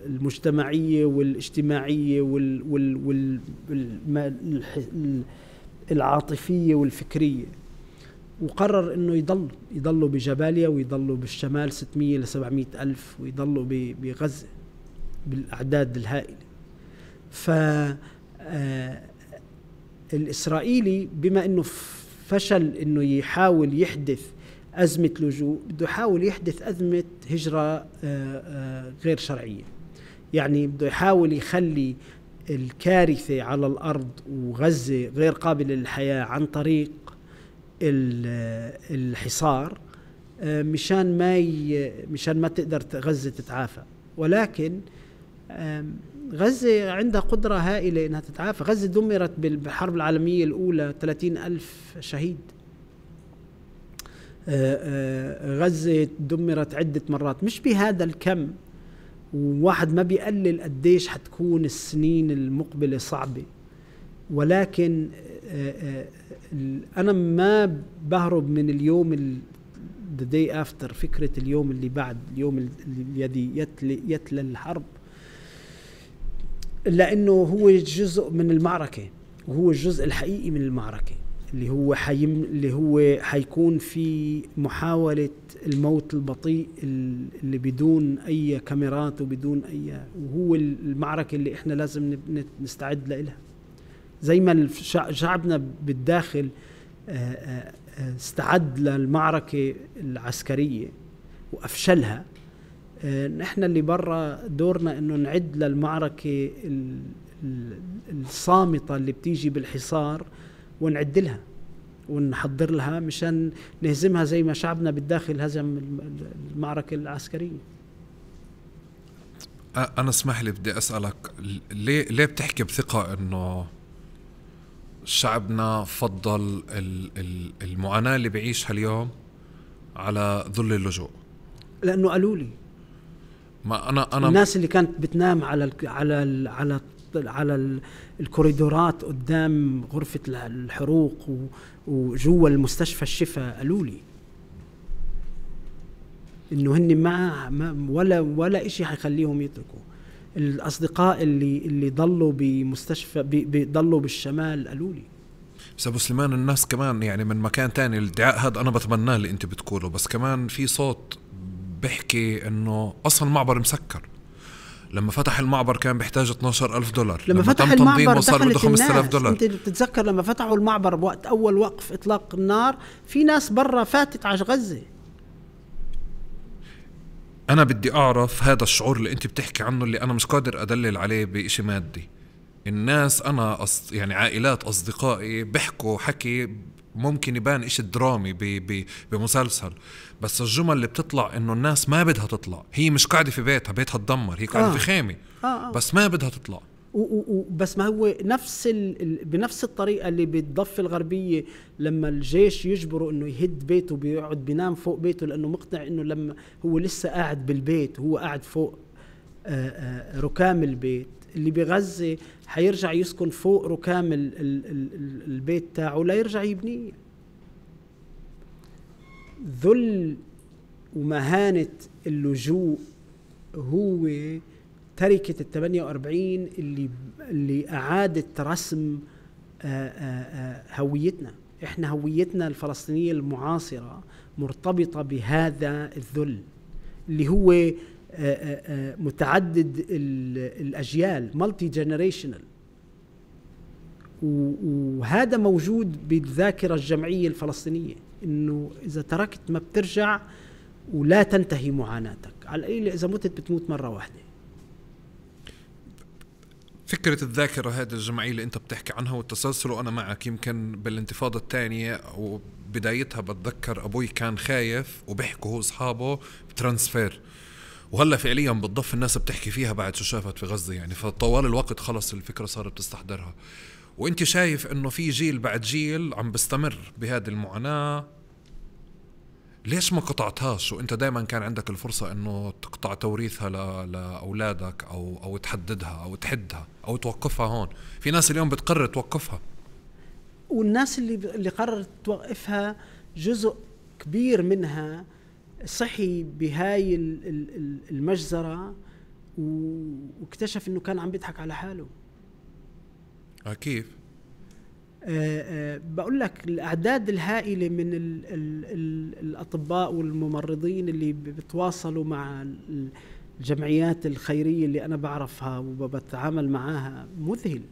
المجتمعية والاجتماعية والعاطفية والفكرية. وقرر انه يضل يضلوا بجباليا ويضلوا بالشمال ستمية لسبعمية ألف ويضلوا بغزة بالأعداد الهائلة. فالإسرائيلي بما انه فشل انه يحاول يحدث أزمة لجوء، بده يحاول يحدث أزمة هجرة غير شرعية. يعني بده يحاول يخلي الكارثة على الأرض وغزة غير قابلة للحياة عن طريق الحصار، مشان ما ي... مشان ما تقدر غزة تتعافى. ولكن غزة عندها قدرة هائلة إنها تتعافى. غزة دمرت بالحرب العالمية الأولى ثلاثين ألف شهيد. غزة دمرت عدة مرات، مش بهذا الكم، وواحد ما بيقلل قديش حتكون السنين المقبلة صعبة. ولكن أنا ما بهرب من اليوم the day after، فكرة اليوم اللي بعد اليوم الذي يتلي, يتلى الحرب، لأنه هو جزء من المعركة، وهو الجزء الحقيقي من المعركة اللي هو حيم اللي هو حيكون في محاولة الموت البطيء اللي بدون أي كاميرات وبدون أي، وهو المعركة اللي إحنا لازم نستعد لها. زي ما شعبنا بالداخل استعد للمعركة العسكرية وأفشلها، نحن اللي برا دورنا إنه نعد للمعركة الصامتة اللي بتيجي بالحصار ونعد لها ونحضر لها مشان نهزمها زي ما شعبنا بالداخل هزم المعركة العسكرية. أنا اسمح لي بدي أسألك، ليه ليه بتحكي بثقة إنه شعبنا فضل المعاناة اللي بعيشها اليوم على ذل اللجوء؟ لأنه قالوا لي ما أنا أنا الناس اللي كانت بتنام على ال على ال على ال على الكوريدورات قدام غرفة الحروق وجوا المستشفى الشفاء قالوا لي إنه هن ما ولا ولا إشي حيخليهم يتركوا. الأصدقاء اللي اللي ضلوا بمستشفى بيضلوا بالشمال قالوا لي. بس أبو سليمان، الناس كمان يعني من مكان تاني، الادعاء هذا أنا بتمناه اللي أنت بتقوله، بس كمان في صوت بحكي إنه أصلا المعبر مسكر. لما فتح المعبر كان بيحتاج اثناشر ألف دولار، لما, لما فتح المعبر وصار بده خمسة آلاف دولار. انت بتتذكر لما فتحوا المعبر بوقت اول وقف اطلاق النار، في ناس برا فاتت على غزة. انا بدي اعرف هذا الشعور اللي انت بتحكي عنه، اللي انا مش قادر ادلل عليه بإشي مادي. الناس انا أص... يعني عائلات اصدقائي بيحكوا حكي ممكن يبان إشي درامي ب... ب... بمسلسل، بس الجمل اللي بتطلع إنه الناس ما بدها تطلع. هي مش قاعدة في بيتها، بيتها تدمر، هي قاعدة آه. في خيمة آه آه. بس ما بدها تطلع. بس ما هو نفس ال... بنفس الطريقة اللي بالضفة الغربية لما الجيش يجبره إنه يهد بيته بيقعد بينام فوق بيته، لأنه مقتنع إنه لما هو لسه قاعد بالبيت، هو قاعد فوق آآ آآ ركام البيت، اللي بغزة حيرجع يسكن فوق ركام ال ال ال البيت تاعه لا يرجع يبنيه. ذل ومهانة اللجوء هو تركة الثمانية وأربعين اللي اللي أعادت رسم آآ آآ هويتنا. إحنا هويتنا الفلسطينية المعاصرة مرتبطة بهذا الذل اللي هو آآ آآ متعدد الأجيال multi generational، وهذا موجود بالذاكرة الجمعية الفلسطينية، إنه إذا تركت ما بترجع ولا تنتهي معاناتك، على القليل إذا متت بتموت مرة واحدة. فكرة الذاكرة هذه الجمعية اللي أنت بتحكي عنها والتسلسل، وأنا معك. يمكن بالانتفاضة الثانية وبدايتها بتذكر أبوي كان خايف وبيحكوا هو أصحابه بترانسفير، وهلا فعليا بالضف الناس بتحكي فيها بعد شو شافت في غزة يعني. فطوال الوقت خلص الفكرة صارت بتستحضرها، وانت شايف انه في جيل بعد جيل عم بستمر بهذه المعاناة. ليش ما قطعتهاش وانت دائما كان عندك الفرصة انه تقطع توريثها لأولادك او او تحددها او تحدها او توقفها؟ هون في ناس اليوم بتقرر توقفها، والناس اللي اللي قررت توقفها جزء كبير منها صحي بهاي المجزرة واكتشف انه كان عم بيضحك على حاله. كيف؟ أه أه بقول لك الأعداد الهائلة من ال ال ال الأطباء والممرضين اللي بتواصلوا مع الجمعيات الخيرية اللي أنا بعرفها وبتعامل معاها مذهل،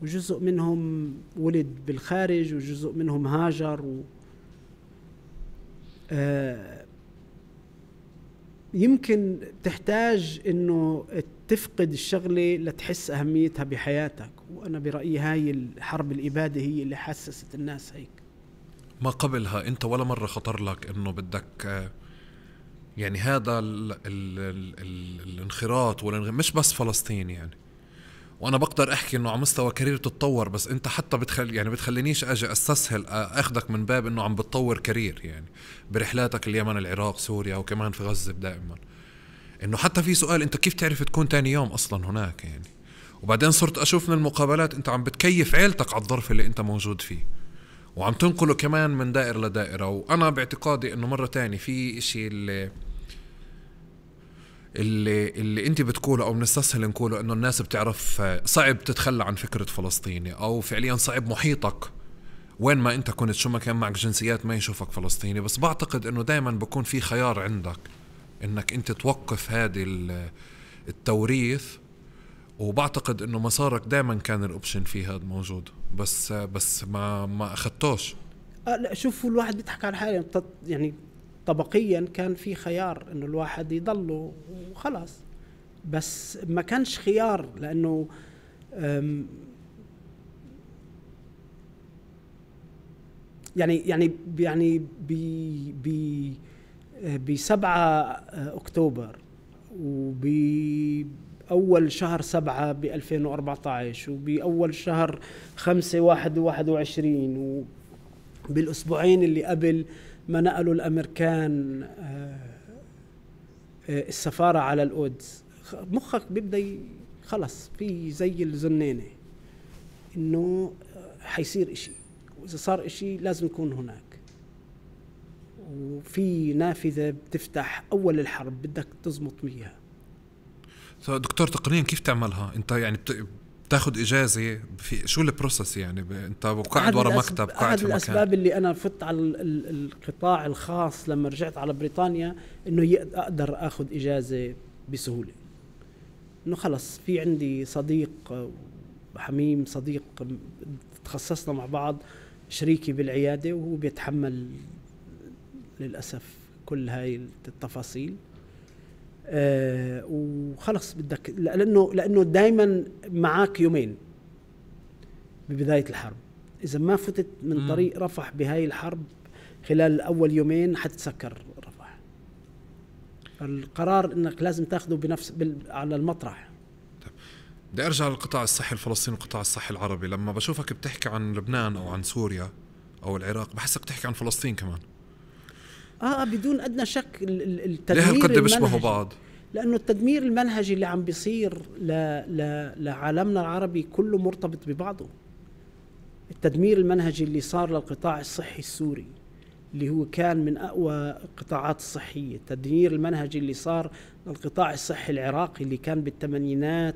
وجزء منهم ولد بالخارج وجزء منهم هاجر و أه يمكن تحتاج إنه تفقد الشغلة لتحس أهميتها بحياتك، وأنا برأيي هاي الحرب الإبادة هي اللي حسست الناس هيك. ما قبلها أنت ولا مرة خطر لك إنه بدك يعني هذا ال ال ال ال الانخراط والانغ... مش بس فلسطين يعني، وأنا بقدر أحكي إنه على مستوى كارير تتطور، بس أنت حتى بتخل يعني بتخلينيش أجي أستسهل أخذك من باب إنه عم بتطور كارير يعني برحلاتك اليمن العراق سوريا وكمان في غزة دائما، إنه حتى في سؤال أنت كيف تعرف تكون تاني يوم أصلا هناك يعني. وبعدين صرت أشوف من المقابلات أنت عم بتكيف عيلتك على الظرف اللي أنت موجود فيه، وعم تنقله كمان من دائرة لدائرة. وأنا باعتقادي إنه مرة تاني في إشي اللي اللي اللي أنت بتقوله أو بنستسهل نقوله، إنه الناس بتعرف صعب تتخلى عن فكرة فلسطيني، أو فعليا صعب محيطك وين ما أنت كنت شو ما كان معك جنسيات ما يشوفك فلسطيني. بس بعتقد إنه دايما بكون في خيار عندك إنك أنت توقف هذه التوريث، وبعتقد إنه مسارك دائما كان الأوبشن فيه هذا موجود، بس بس ما ما أخدتوش. آه لا شوفوا الواحد بيضحك على حاله يعني، طبقيا كان في خيار إنه الواحد يضله وخلاص، بس ما كانش خيار لأنه يعني يعني يعني ب ب بسبعة أكتوبر وبأول شهر سبعة بألفين وأربعة عشر وبأول شهر خمسة واحد واحد وعشرين وبالأسبوعين اللي قبل ما نقلوا الأمريكان السفارة على القدس، مخك بيبدأ خلص في زي الزنينة إنه حيصير إشي، وإذا صار إشي لازم يكون هناك، وفي نافذة بتفتح أول الحرب بدك تزمط بيها. دكتور تقنيا كيف تعملها أنت يعني؟ بتاخد إجازة في شو البروسس يعني؟ أنت قاعد ورا مكتب قاعد أحد في مكان. الأسباب اللي أنا فت على القطاع الخاص لما رجعت على بريطانيا إنه أقدر أخذ إجازة بسهولة، إنه خلص في عندي صديق حميم، صديق تخصصنا مع بعض، شريكي بالعيادة، وهو بيتحمل للأسف كل هاي التفاصيل. آه وخلص بدك، لأنه لأنه دايما معاك يومين ببداية الحرب، إذا ما فتت من م. طريق رفح بهاي الحرب خلال أول يومين حتتسكر رفح. القرار إنك لازم تاخده بنفس على المطرح. بدي أرجع للقطاع الصحي الفلسطيني والقطاع الصحي العربي. لما بشوفك بتحكي عن لبنان أو عن سوريا أو العراق بحسك بتحكي عن فلسطين كمان. آه بدون أدنى شك. التدمير ليه هالقد بيشبهوا بعض؟ لأنه التدمير المنهجي اللي عم بيصير لعالمنا العربي كله مرتبط ببعضه. التدمير المنهجي اللي صار للقطاع الصحي السوري اللي هو كان من أقوى القطاعات الصحية، التدمير المنهجي اللي صار للقطاع الصحي العراقي اللي كان بالثمانينات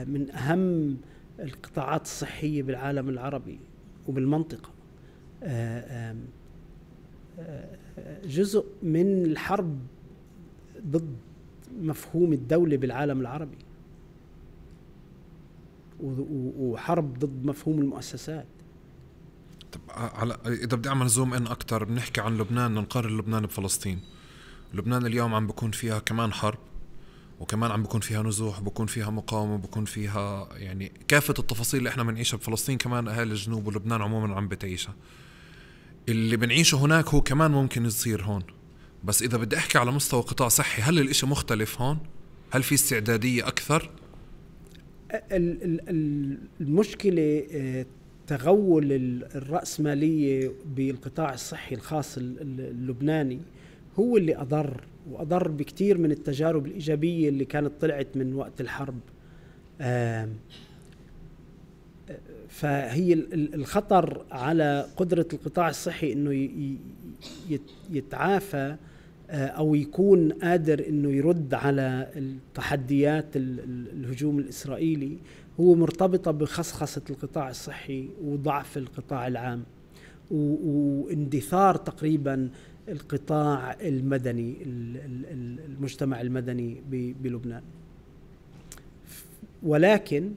من أهم القطاعات الصحية بالعالم العربي وبالمنطقة، جزء من الحرب ضد مفهوم الدولة بالعالم العربي وحرب ضد مفهوم المؤسسات. طب على إذا بدي أعمل زوم إن أكتر، بنحكي عن لبنان، نقارن لبنان بفلسطين. لبنان اليوم عم بكون فيها كمان حرب، وكمان عم بكون فيها نزوح، بكون فيها مقاومة، بكون فيها يعني كافة التفاصيل اللي إحنا بنعيشها بفلسطين كمان أهالي الجنوب ولبنان عموما عم بتعيشها. اللي بنعيشه هناك هو كمان ممكن يصير هون. بس إذا بدي أحكي على مستوى قطاع صحي، هل الإشي مختلف هون؟ هل في استعدادية أكثر؟ المشكلة تغول الرأسمالية بالقطاع الصحي الخاص اللبناني هو اللي أضر، وأضر بكتير من التجارب الإيجابية اللي كانت طلعت من وقت الحرب. فهي الخطر على قدرة القطاع الصحي إنه يتعافى أو يكون قادر إنه يرد على التحديات الهجوم الإسرائيلي هو مرتبطة بخصخصة القطاع الصحي وضعف القطاع العام واندثار تقريبا القطاع المدني، المجتمع المدني بلبنان. ولكن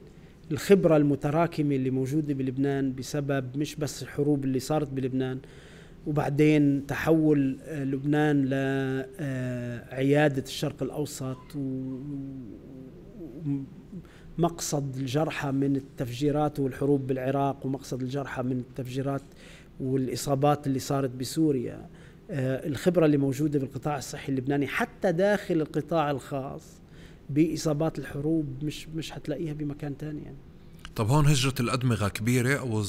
الخبرة المتراكمة اللي موجودة بلبنان بسبب مش بس الحروب اللي صارت بلبنان، وبعدين تحول لبنان لعيادة الشرق الأوسط ومقصد الجرحى من التفجيرات والحروب بالعراق، ومقصد الجرحى من التفجيرات والإصابات اللي صارت بسوريا. الخبرة اللي موجودة بالقطاع الصحي اللبناني حتى داخل القطاع الخاص بإصابات الحروب مش مش هتلاقيها بمكان تاني يعني. طب هون هجرة الأدمغة كبيرة أو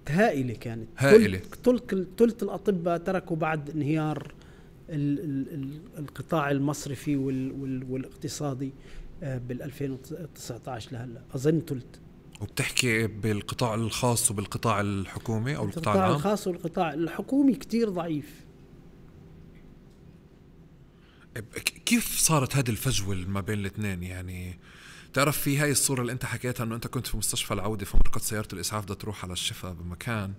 هائلة كانت، هائلة. ثلث الأطباء تركوا بعد انهيار ال ال القطاع المصرفي وال وال والاقتصادي بال ألفين وتسعة عشر لهلا، أظن ثلث. وبتحكي بالقطاع الخاص وبالقطاع الحكومي أو القطاع العام؟ القطاع الخاص والقطاع الحكومي كتير ضعيف. كيف صارت هذه الفجوة ما بين الاثنين؟ يعني تعرف في هاي الصورة اللي انت حكيتها انه انت كنت في مستشفى العودة فمركز سيارة الاسعاف بدها تروح على الشفاء بمكان،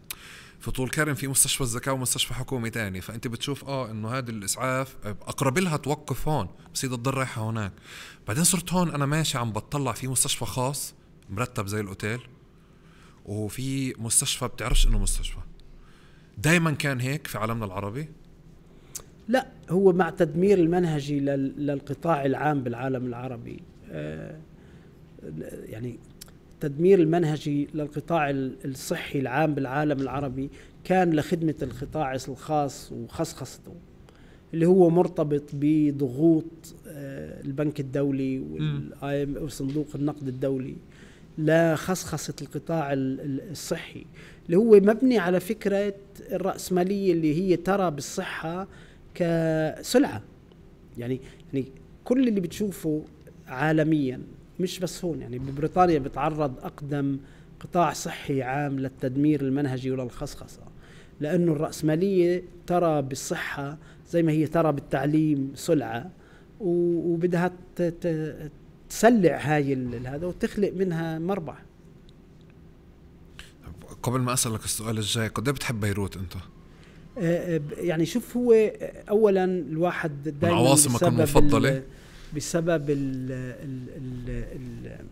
في طول كرم في مستشفى الزكاة ومستشفى حكومي تاني، فانت بتشوف اه انه هذه الاسعاف اقرب لها توقف هون بس هي تضل رايحة هناك. بعدين صرت هون انا ماشي عم بتطلع في مستشفى خاص مرتب زي الاوتيل، وفي مستشفى بتعرفش انه مستشفى. دايما كان هيك في عالمنا العربي؟ لا، هو مع تدمير المنهجي للقطاع العام بالعالم العربي، آه يعني تدمير المنهجي للقطاع الصحي العام بالعالم العربي كان لخدمة القطاع الخاص وخصخصته، اللي هو مرتبط بضغوط آه البنك الدولي وصندوق النقد الدولي لخصخصة القطاع الصحي، اللي هو مبني على فكرة الرأسمالية اللي هي ترى بالصحة كسلعة. يعني يعني كل اللي بتشوفه عالميا مش بس هون، يعني ببريطانيا بتعرض أقدم قطاع صحي عام للتدمير المنهجي وللخصخصة، لأنه الرأسمالية ترى بالصحة زي ما هي ترى بالتعليم سلعة، وبدها تسلع هاي هذا وتخلق منها مربح. قبل ما أسألك السؤال الجاي، قد ايه بتحب بيروت أنت؟ يعني شوف، هو أولا الواحد دائما عواصمك المفضلة بسبب ال ال ال ال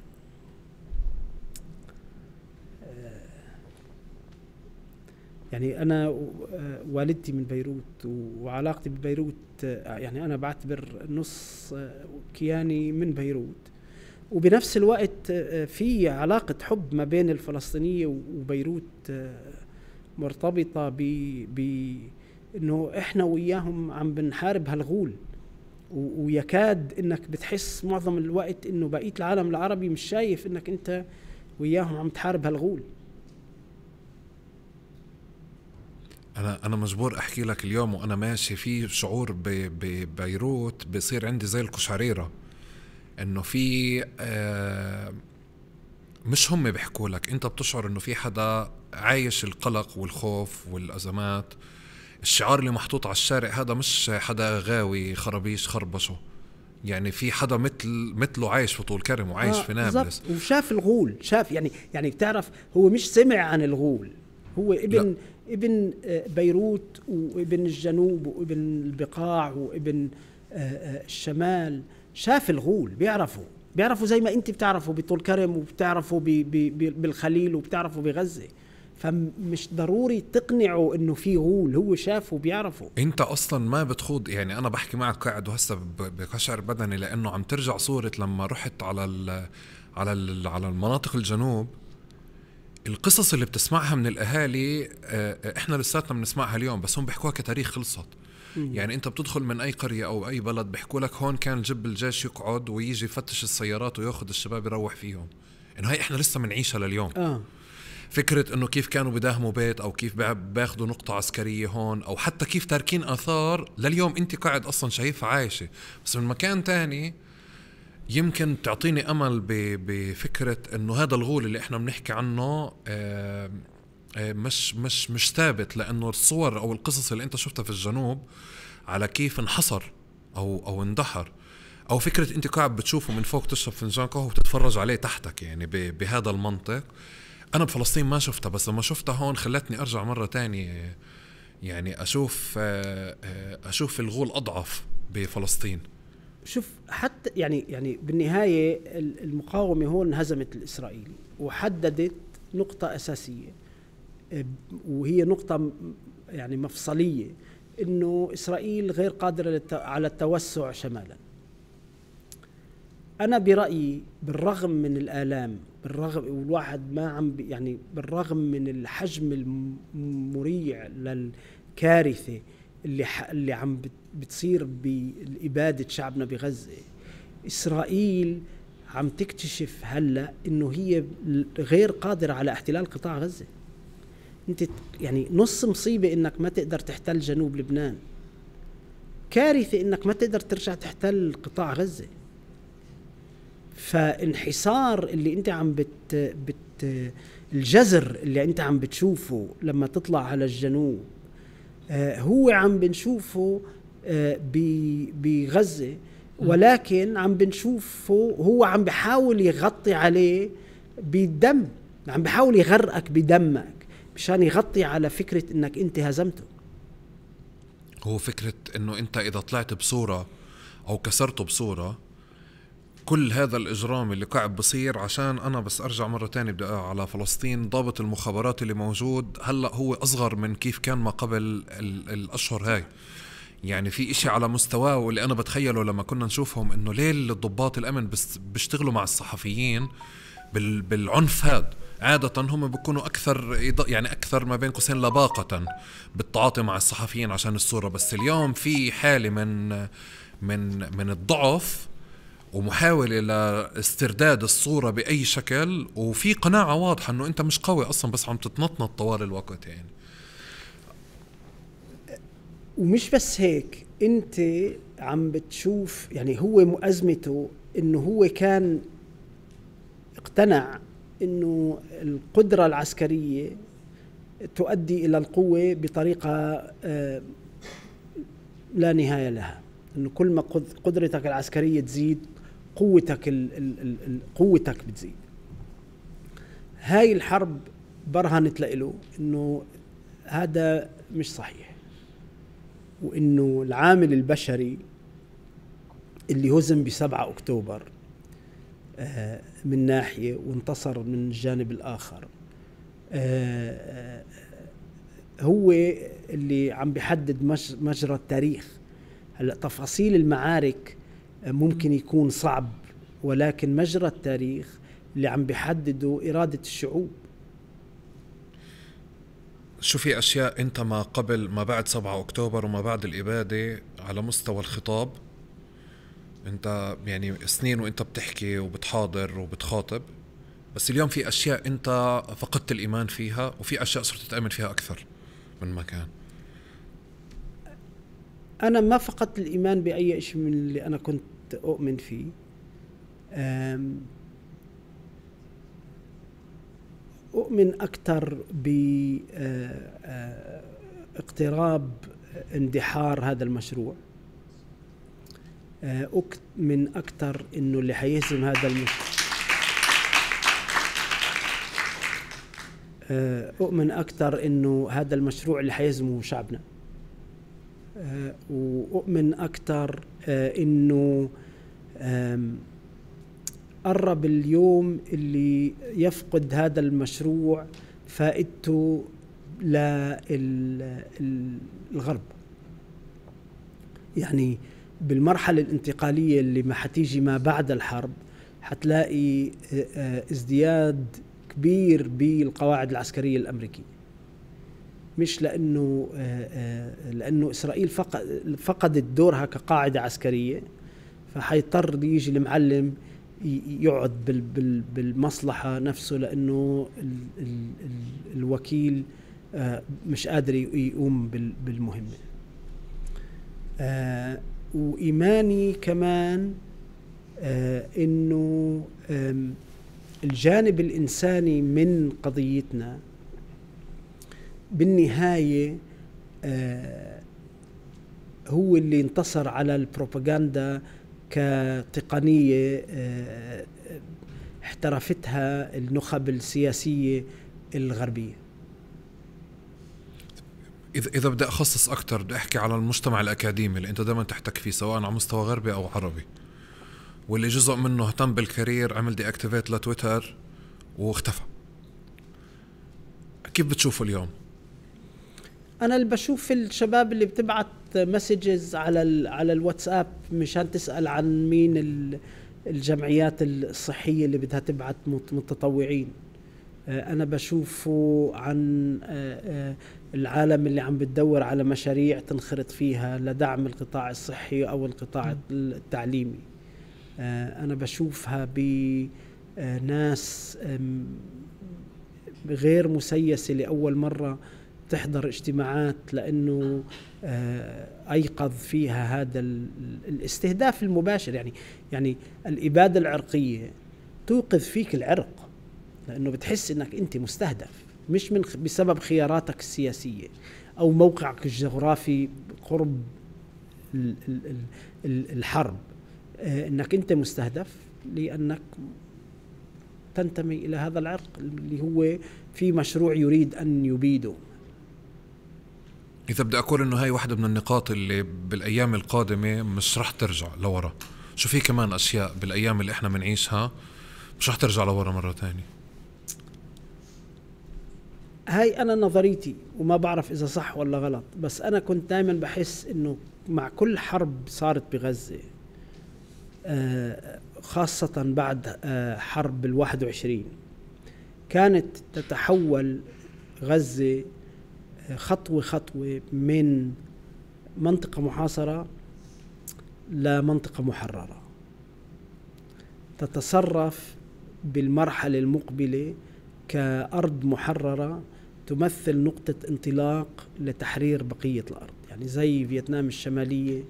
يعني أنا والدتي من بيروت وعلاقتي ببيروت، يعني أنا بعتبر نص كياني من بيروت، وبنفس الوقت في علاقة حب ما بين الفلسطينية وبيروت مرتبطة ب إنه إحنا وياهم عم بنحارب هالغول، ويكاد إنك بتحس معظم الوقت إنه بقية العالم العربي مش شايف إنك أنت وياهم عم تحارب هالغول. أنا أنا مجبور أحكي لك اليوم وأنا ماشي في شعور ببيروت بيصير عندي زي القشعريرة، إنه في آه مش هم بيحكوا لك، أنت بتشعر إنه في حدا عايش القلق والخوف والأزمات. الشعار اللي محطوط على الشارع هذا مش حدا غاوي خرابيش خربشه، يعني في حدا مثل مثله عايش في طول كرم وعايش آه في نابلس وشاف الغول، شاف يعني يعني بتعرف هو مش سمع عن الغول، هو ابن لا. ابن بيروت وابن الجنوب وابن البقاع وابن الشمال، شاف الغول، بيعرفوا بيعرفوا زي ما انت بتعرفوا بطول كرم وبتعرفوا بالخليل وبتعرفوا بغزة. فمش ضروري تقنعوا انه في غول، هو شافه وبيعرفه. انت اصلا ما بتخوض، يعني انا بحكي معك قاعد وهسه بقشعر بدني لانه عم ترجع صورة لما رحت على ال على ال على المناطق الجنوب. القصص اللي بتسمعها من الاهالي احنا لساتنا بنسمعها اليوم، بس هم بيحكوها كتاريخ خلصت. يعني انت بتدخل من اي قرية او اي بلد بيحكوا لك هون كان جب الجيش يقعد ويجي يفتش السيارات وياخذ الشباب يروح فيهم، انه هاي احنا لسه منعيشها لليوم. اه فكرة انه كيف كانوا بداهموا بيت او كيف باخدوا نقطة عسكرية هون، او حتى كيف تاركين اثار لليوم انت قاعد اصلا شايفها عايشة، بس من مكان تاني يمكن تعطيني امل بفكرة انه هذا الغول اللي احنا بنحكي عنه آآ آآ مش مش مش ثابت، لانه الصور او القصص اللي انت شفتها في الجنوب على كيف انحصر او او اندحر، او فكرة انت قاعد بتشوفه من فوق تشرب فنجان قهوة وتتفرج عليه تحتك، يعني بهذا المنطق. أنا بفلسطين ما شفتها، بس لما شفتها هون خلتني أرجع مرة تانية، يعني أشوف أشوف الغول أضعف بفلسطين. شوف حتى يعني يعني بالنهاية المقاومة هون هزمت الإسرائيلي وحددت نقطة أساسية، وهي نقطة يعني مفصلية، إنه إسرائيل غير قادرة على التوسع شمالا. أنا برأيي بالرغم من الآلام، بالرغم والواحد ما عم يعني بالرغم من الحجم المريع للكارثة اللي اللي عم بتصير بإبادة شعبنا بغزة، إسرائيل عم تكتشف هلا إنه هي غير قادرة على احتلال قطاع غزة. أنت يعني نص مصيبة إنك ما تقدر تحتل جنوب لبنان، كارثة إنك ما تقدر ترجع تحتل قطاع غزة. فانحصار اللي انت عم بت, بت الجزر اللي انت عم بتشوفه لما تطلع على الجنوب آه هو عم بنشوفه آه بغزة، ولكن عم بنشوفه هو عم بحاول يغطي عليه بالدم، عم بحاول يغرقك بدمك مشان يغطي على فكرة انك انت هزمته. هو فكرة انه انت اذا طلعت بصورة او كسرته بصورة، كل هذا الإجرام اللي قاعد بصير. عشان أنا بس أرجع مرة تانية بدي على فلسطين، ضابط المخابرات اللي موجود هلأ هو أصغر من كيف كان ما قبل الأشهر هاي. يعني في إشي على مستواه واللي أنا بتخيله لما كنا نشوفهم إنه ليه الضباط الأمن بس بيشتغلوا مع الصحفيين بالعنف هذا. عادة هم بيكونوا أكثر يعني أكثر ما بين قوسين لباقة بالتعاطي مع الصحفيين عشان الصورة، بس اليوم في حالة من من من الضعف ومحاولة لاسترداد الصورة بأي شكل، وفي قناعة واضحة أنه أنت مش قوي أصلا بس عم تتنطنط طوال الوقت. يعني ومش بس هيك، أنت عم بتشوف يعني هو مؤزمته أنه هو كان اقتنع أنه القدرة العسكرية تؤدي إلى القوة بطريقة لا نهاية لها، أنه كل ما قدرتك العسكرية تزيد قوتك ال ال ال قوتك بتزيد. هاي الحرب برهنت له إنه هذا مش صحيح، وإنه العامل البشري اللي هزم بسبعة أكتوبر آه من ناحية وانتصر من الجانب الآخر آه هو اللي عم بيحدد مجرى التاريخ. هلا تفاصيل المعارك ممكن يكون صعب، ولكن مجرى التاريخ اللي عم بيحدده إرادة الشعوب. شو في أشياء أنت ما قبل ما بعد سبعة أكتوبر وما بعد الإبادة على مستوى الخطاب، أنت يعني سنين وأنت بتحكي وبتحاضر وبتخاطب، بس اليوم في أشياء أنت فقدت الإيمان فيها وفي أشياء صرت تأمن فيها أكثر من مكان؟ أنا ما فقدت الإيمان بأي شيء من اللي أنا كنت أؤمن فيه. أؤمن أكثر باقتراب اندحار هذا المشروع. أؤمن أكثر إنه اللي حيهزم هذا المشروع أؤمن أكثر إنه هذا المشروع اللي حيهزمه شعبنا. وأؤمن أكثر إنه قرب اليوم اللي يفقد هذا المشروع فائدته للغرب. يعني بالمرحلة الانتقالية اللي ما حتيجي ما بعد الحرب حتلاقي ازدياد كبير بالقواعد العسكرية الأمريكية، مش لأنه لأنه إسرائيل فقدت دورها كقاعدة عسكرية، فحيضطر يجي المعلم يقعد بالمصلحة نفسه لأنه ال ال ال الوكيل مش قادر يقوم بالمهمة. وإيماني كمان إنه الجانب الإنساني من قضيتنا بالنهاية هو اللي انتصر على البروباغندا كتقنية احترفتها النخب السياسية الغربية. إذا إذا بدي أخصص أكتر بدي أحكي على المجتمع الأكاديمي اللي أنت دائما تحتك فيه سواء على مستوى غربي أو عربي، واللي جزء منه اهتم بالكارير، عمل دي اكتيفيت لتويتر واختفى. كيف بتشوفه اليوم؟ أنا اللي بشوف الشباب اللي بتبعت مسجز على على الواتساب مشان تسأل عن مين الجمعيات الصحية اللي بدها تبعت متطوعين. أنا بشوفه عن العالم اللي عم بتدور على مشاريع تنخرط فيها لدعم القطاع الصحي أو القطاع التعليمي. أنا بشوفها بناس غير مسيسة لأول مرة تحضر اجتماعات لأنه أيقظ فيها هذا الاستهداف المباشر. يعني يعني الإبادة العرقية توقظ فيك العرق لأنه بتحس إنك أنت مستهدف، مش من بسبب خياراتك السياسية أو موقعك الجغرافي قرب الحرب، إنك أنت مستهدف لأنك تنتمي إلى هذا العرق اللي هو في مشروع يريد أن يبيده. إذا بدي أقول إنه هاي واحدة من النقاط اللي بالأيام القادمة مش رح ترجع لورا، شو في كمان أشياء بالأيام اللي إحنا منعيشها مش رح ترجع لورا مرة تانية. هاي أنا نظريتي وما بعرف إذا صح ولا غلط، بس أنا كنت دائما بحس إنه مع كل حرب صارت بغزة خاصة بعد حرب الواحد وعشرين كانت تتحول غزة خطوة خطوة من منطقة محاصرة لمنطقة محررة، تتصرف بالمرحلة المقبلة كأرض محررة تمثل نقطة انطلاق لتحرير بقية الأرض، يعني زي فيتنام الشمالية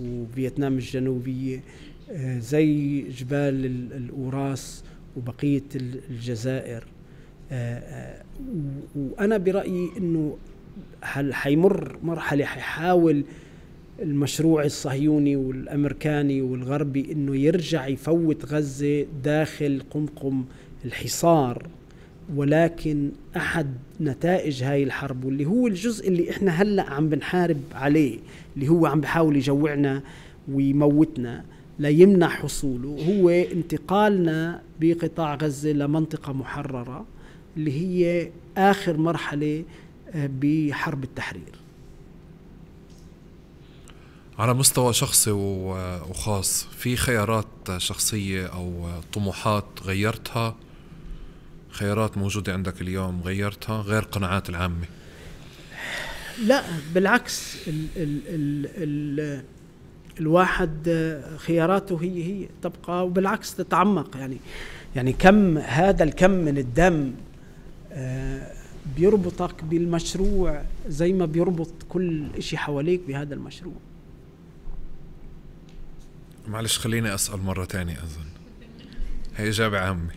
وفيتنام الجنوبية، زي جبال الأوراس وبقية الجزائر. وأنا برأيي إنه حيمر مرحلة حيحاول المشروع الصهيوني والأمريكاني والغربي إنه يرجع يفوت غزة داخل قمقم الحصار، ولكن أحد نتائج هاي الحرب واللي هو الجزء اللي إحنا هلأ عم بنحارب عليه اللي هو عم بحاول يجوعنا ويموتنا لا يمنع حصوله هو انتقالنا بقطاع غزة لمنطقة محررة اللي هي آخر مرحلة بحرب التحرير. على مستوى شخصي وخاص، في خيارات شخصية أو طموحات غيرتها؟ خيارات موجودة عندك اليوم غيرتها غير قناعات العامة؟ لا بالعكس، ال ال ال ال الواحد خياراته هي هي تبقى، وبالعكس تتعمق. يعني يعني كم هذا الكم من الدم بيربطك بالمشروع زي ما بيربط كل إشي حواليك بهذا المشروع. معلش خليني أسأل مرة تانية. أظن هي إجابة عامة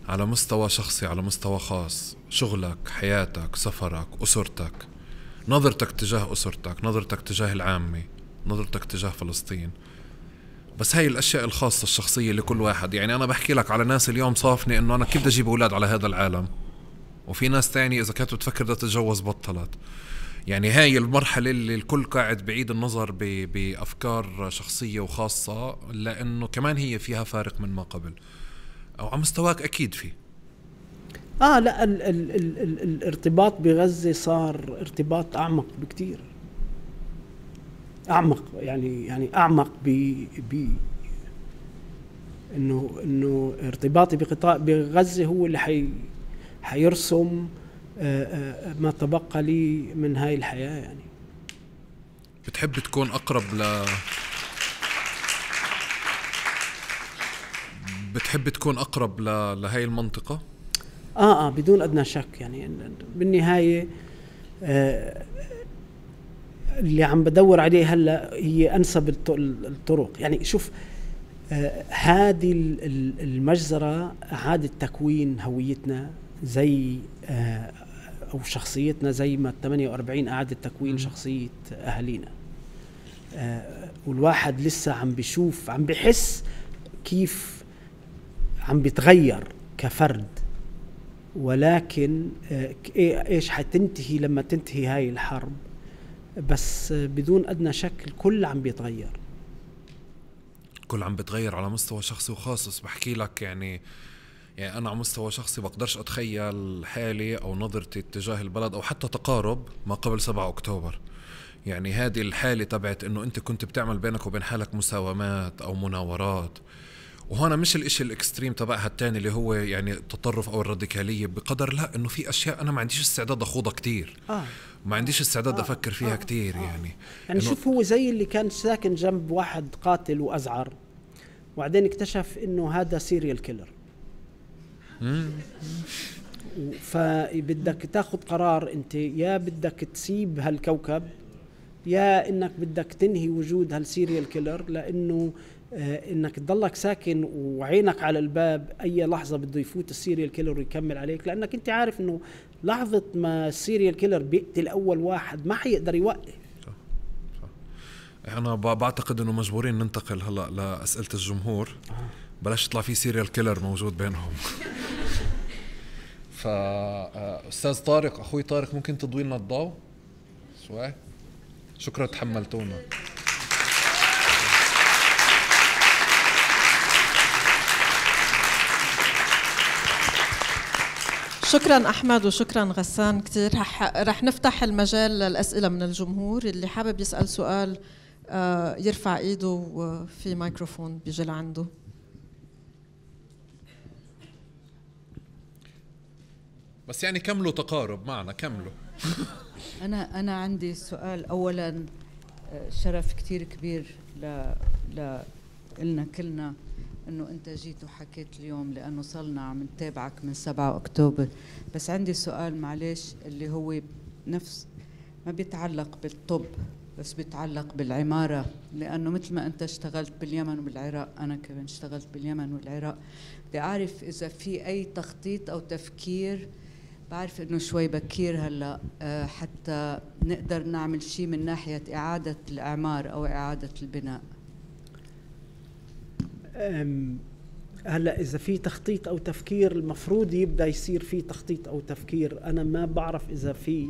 على مستوى شخصي، على مستوى خاص، شغلك، حياتك، سفرك، أسرتك، نظرتك تجاه أسرتك، نظرتك تجاه العامة، نظرتك تجاه فلسطين. بس هاي الأشياء الخاصة الشخصية لكل واحد. يعني أنا بحكي لك على ناس اليوم صافني إنه أنا كيف بدي أجيب أولاد على هذا العالم، وفي ناس تاني إذا كانت بتفكر بدها تتجوز بطلت. يعني هاي المرحلة اللي الكل قاعد بعيد النظر بأفكار شخصية وخاصة، لأنه كمان هي فيها فارق من ما قبل، أو على مستواك أكيد فيه. آه لا ال ال ال ال الارتباط بغزة صار ارتباط أعمق بكتير، أعمق يعني يعني أعمق ب ب إنه إنه ارتباطي بقطاع بغزة هو اللي حي حيرسم ما تبقى لي من هاي الحياة. يعني بتحب تكون أقرب ل بتحب تكون أقرب ل... لهاي المنطقة؟ آه آه بدون أدنى شك. يعني بالنهاية آه اللي عم بدور عليه هلأ هي أنسب الطرق. يعني شوف آه هذه المجزرة أعادت تكوين هويتنا زي آه أو شخصيتنا، زي ما ثمانية وأربعين أعادت تكوين شخصية أهالينا. آه والواحد لسه عم بيشوف، عم بيحس كيف عم بيتغير كفرد، ولكن آه إيش حتنتهي لما تنتهي هاي الحرب. بس آه بدون أدنى شك الكل عم بيتغير، كل عم بيتغير على مستوى شخصي وخاص. بحكي لك يعني يعني أنا على مستوى شخصي بقدرش أتخيل حالي أو نظرتي تجاه البلد أو حتى تقارب ما قبل سبعة أكتوبر. يعني هذه الحالة تبعت إنه أنت كنت بتعمل بينك وبين حالك مساومات أو مناورات، وهنا مش الإشي الإكستريم تبعها التاني اللي هو يعني التطرف أو الراديكالية، بقدر لا إنه في أشياء أنا ما عنديش استعداد أخوضها كتير، آه. ما عنديش استعداد آه. أفكر فيها آه. كتير. آه. يعني يعني شوف هو زي اللي كان ساكن جنب واحد قاتل وأزعر، وبعدين اكتشف إنه هذا سيريال كيلر. فبدك تاخذ قرار انت، يا بدك تسيب هالكوكب يا انك بدك تنهي وجود هالسيريال كيلر، لانه آه انك تضلك ساكن وعينك على الباب اي لحظه بده يفوت السيريال كيلر ويكمل عليك، لانك انت عارف انه لحظه ما السيريال كيلر بيقتل اول واحد ما حيقدر يوقف. صح صح. انا بعتقد انه مجبورين ننتقل هلا لاسئله الجمهور. آه. بلاش يطلع في سيريال كيلر موجود بينهم. فأستاذ طارق، أخوي طارق، ممكن تضوي لنا الضوء شوي؟ شكرا تحملتونا. شكرا أحمد وشكرا غسان كتير. رح, رح نفتح المجال للأسئلة من الجمهور. اللي حابب يسأل سؤال يرفع إيده وفي ميكروفون بيجي لعنده. بس يعني كملوا تقارب معنا، كملوا. أنا أنا عندي سؤال. أولاً شرف كتير كبير ل لنا كلنا إنه أنت جيت وحكيت اليوم، لأنه صلنا عم نتابعك من سبعة أكتوبر. بس عندي سؤال معلش اللي هو نفس ما بيتعلق بالطب بس بيتعلق بالعمارة، لأنه مثل ما أنت اشتغلت باليمن وبالعراق أنا كمان اشتغلت باليمن والعراق. بدي أعرف إذا في أي تخطيط أو تفكير، بعرف إنه شوي بكير هلا حتى نقدر نعمل شيء من ناحية إعادة الإعمار أو إعادة البناء. هلا إذا في تخطيط أو تفكير المفروض يبدأ يصير في تخطيط أو تفكير. أنا ما بعرف إذا في،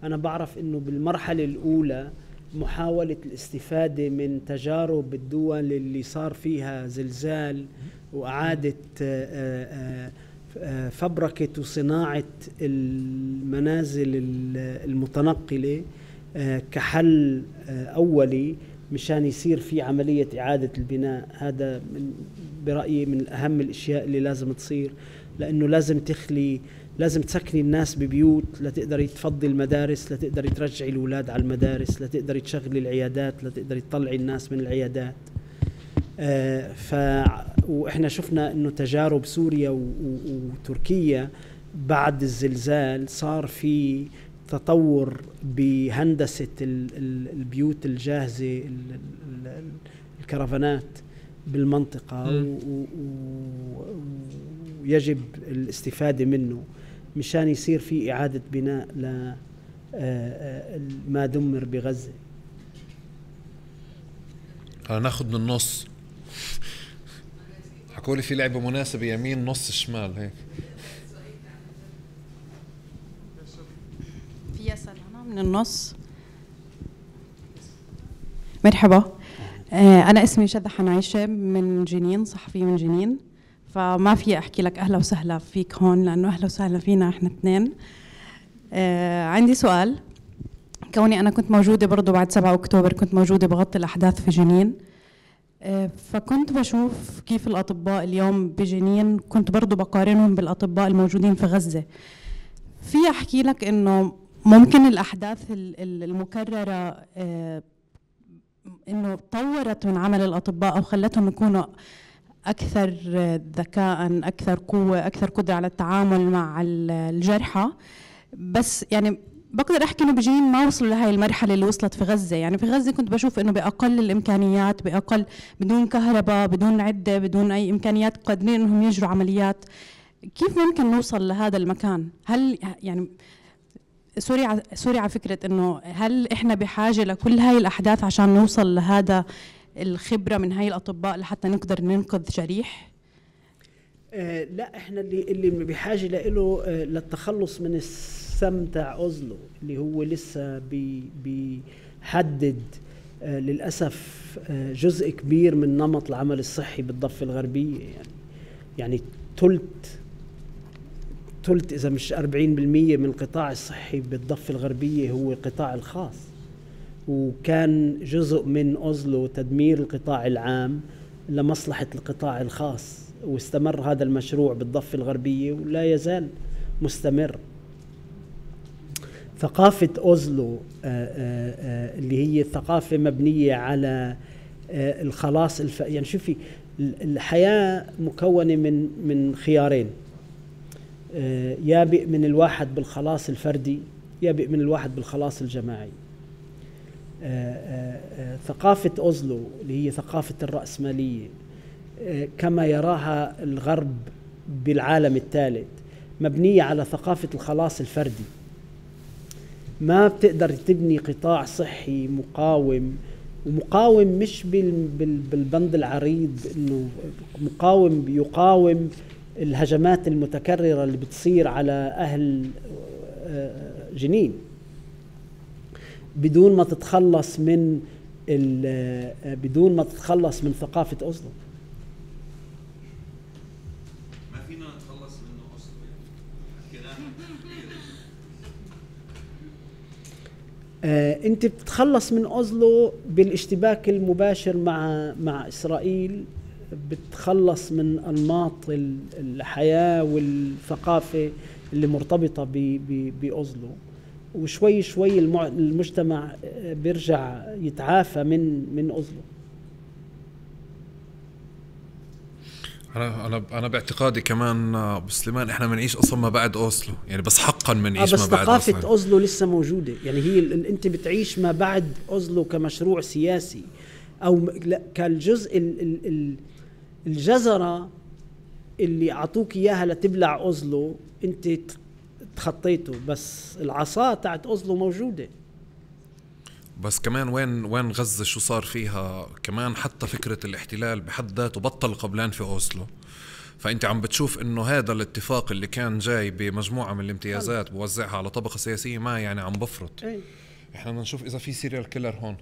أنا بعرف إنه بالمرحلة الأولى محاولة الاستفادة من تجارب الدول اللي صار فيها زلزال وإعادة فبركة وصناعة المنازل المتنقلة كحل أولي مشان يصير في عملية إعادة البناء. هذا من برأيي من أهم الأشياء اللي لازم تصير، لأنه لازم تخلي، لازم تسكني الناس ببيوت لتقدري تفضي المدارس، لتقدري ترجعي الأولاد على المدارس، لتقدري تشغلي العيادات، لتقدري تطلعي الناس من العيادات. آه ف واحنا شفنا انه تجارب سوريا وتركيا بعد الزلزال صار في تطور بهندسة البيوت الجاهزة، الكرفانات بالمنطقة، ويجب الاستفادة منه مشان يصير في إعادة بناء لما دمر بغزة. ناخد من النص. حكولي في لعبة مناسبة يمين نص شمال هيك. في أسأل أنا من النص. مرحبا، أنا اسمي شذى حنعيشة من جنين، صحفية من جنين، فما في أحكي لك أهلا وسهلا فيك هون لأنه أهلا وسهلا فينا إحنا اثنين. عندي سؤال، كوني أنا كنت موجودة برضو بعد سبعة أكتوبر، كنت موجودة بغطي الأحداث في جنين، فكنت بشوف كيف الأطباء اليوم بجنين، كنت برضو بقارنهم بالأطباء الموجودين في غزة. في أحكي لك إنه ممكن الأحداث المكررة إنه طورت من عمل الأطباء أو خلتهم يكونوا أكثر ذكاء، أكثر قوة، أكثر قدرة على التعامل مع الجرحى. بس يعني بقدر أحكي إنه بجنين ما وصلوا لهاي المرحلة اللي وصلت في غزة. يعني في غزة كنت بشوف إنه بأقل الإمكانيات، بأقل، بدون كهرباء، بدون عدة، بدون أي إمكانيات، قادرين إنهم يجروا عمليات. كيف ممكن نوصل لهذا المكان؟ هل يعني سوري ع... سوري على فكرة إنه هل إحنا بحاجة لكل هاي الأحداث عشان نوصل لهذا الخبرة من هاي الأطباء لحتى نقدر ننقذ جريح؟ آه لا، إحنا اللي اللي بحاجة له آه للتخلص من السم تاع أوزلو اللي هو لسه بي بيحدد آه للأسف آه جزء كبير من نمط العمل الصحي بالضفة الغربية. يعني يعني ثلث ثلث إذا مش أربعين بالمية من القطاع الصحي بالضفة الغربية هو القطاع الخاص، وكان جزء من أوزلو تدمير القطاع العام لمصلحة القطاع الخاص، واستمر هذا المشروع بالضفة الغربية ولا يزال مستمر. ثقافة أوزلو آآ آآ اللي هي ثقافة مبنية على الخلاص الف... يعني شوفي الحياة مكونة من من خيارين، يابئ من الواحد بالخلاص الفردي، يابئ من الواحد بالخلاص الجماعي. ثقافة أوزلو اللي هي ثقافة الرأسمالية كما يراها الغرب بالعالم الثالث مبنية على ثقافة الخلاص الفردي. ما بتقدر تبني قطاع صحي مقاوم، ومقاوم مش بالبند العريض، انه مقاوم يقاوم الهجمات المتكررة اللي بتصير على أهل جنين بدون ما تتخلص من بدون ما تتخلص من ثقافة أوزلو. ما فينا نتخلص منه أوزلو آه، أنت بتتخلص من أوزلو بالاشتباك المباشر مع مع إسرائيل، بتخلص من أنماط الحياة والثقافة اللي مرتبطة بأوزلو، وشوي شوي المجتمع بيرجع يتعافى من من أوزلو. أنا أنا أنا باعتقادي كمان أبو سليمان إحنا بنعيش أصلا ما بعد أوزلو، يعني بس حقا بنعيش ما بعد أوزلو. بس ثقافة أوزلو لسه موجودة، يعني هي أنت بتعيش ما بعد أوزلو كمشروع سياسي أو كالجزء ال ال ال الجزرة اللي أعطوك إياها لتبلع أوزلو، أنت تخطيته، بس العصا تاعت أوزلو موجودة. بس كمان وين وين غزة شو صار فيها كمان، حتى فكرة الاحتلال بحد ذاته بطل قبلان في أوزلو. فأنت عم بتشوف إنه هذا الاتفاق اللي كان جاي بمجموعة من الامتيازات بوزعها على طبقة سياسية ما يعني عم بفرط. أي. إحنا بدنا نشوف إذا في سيريال كيلر هون.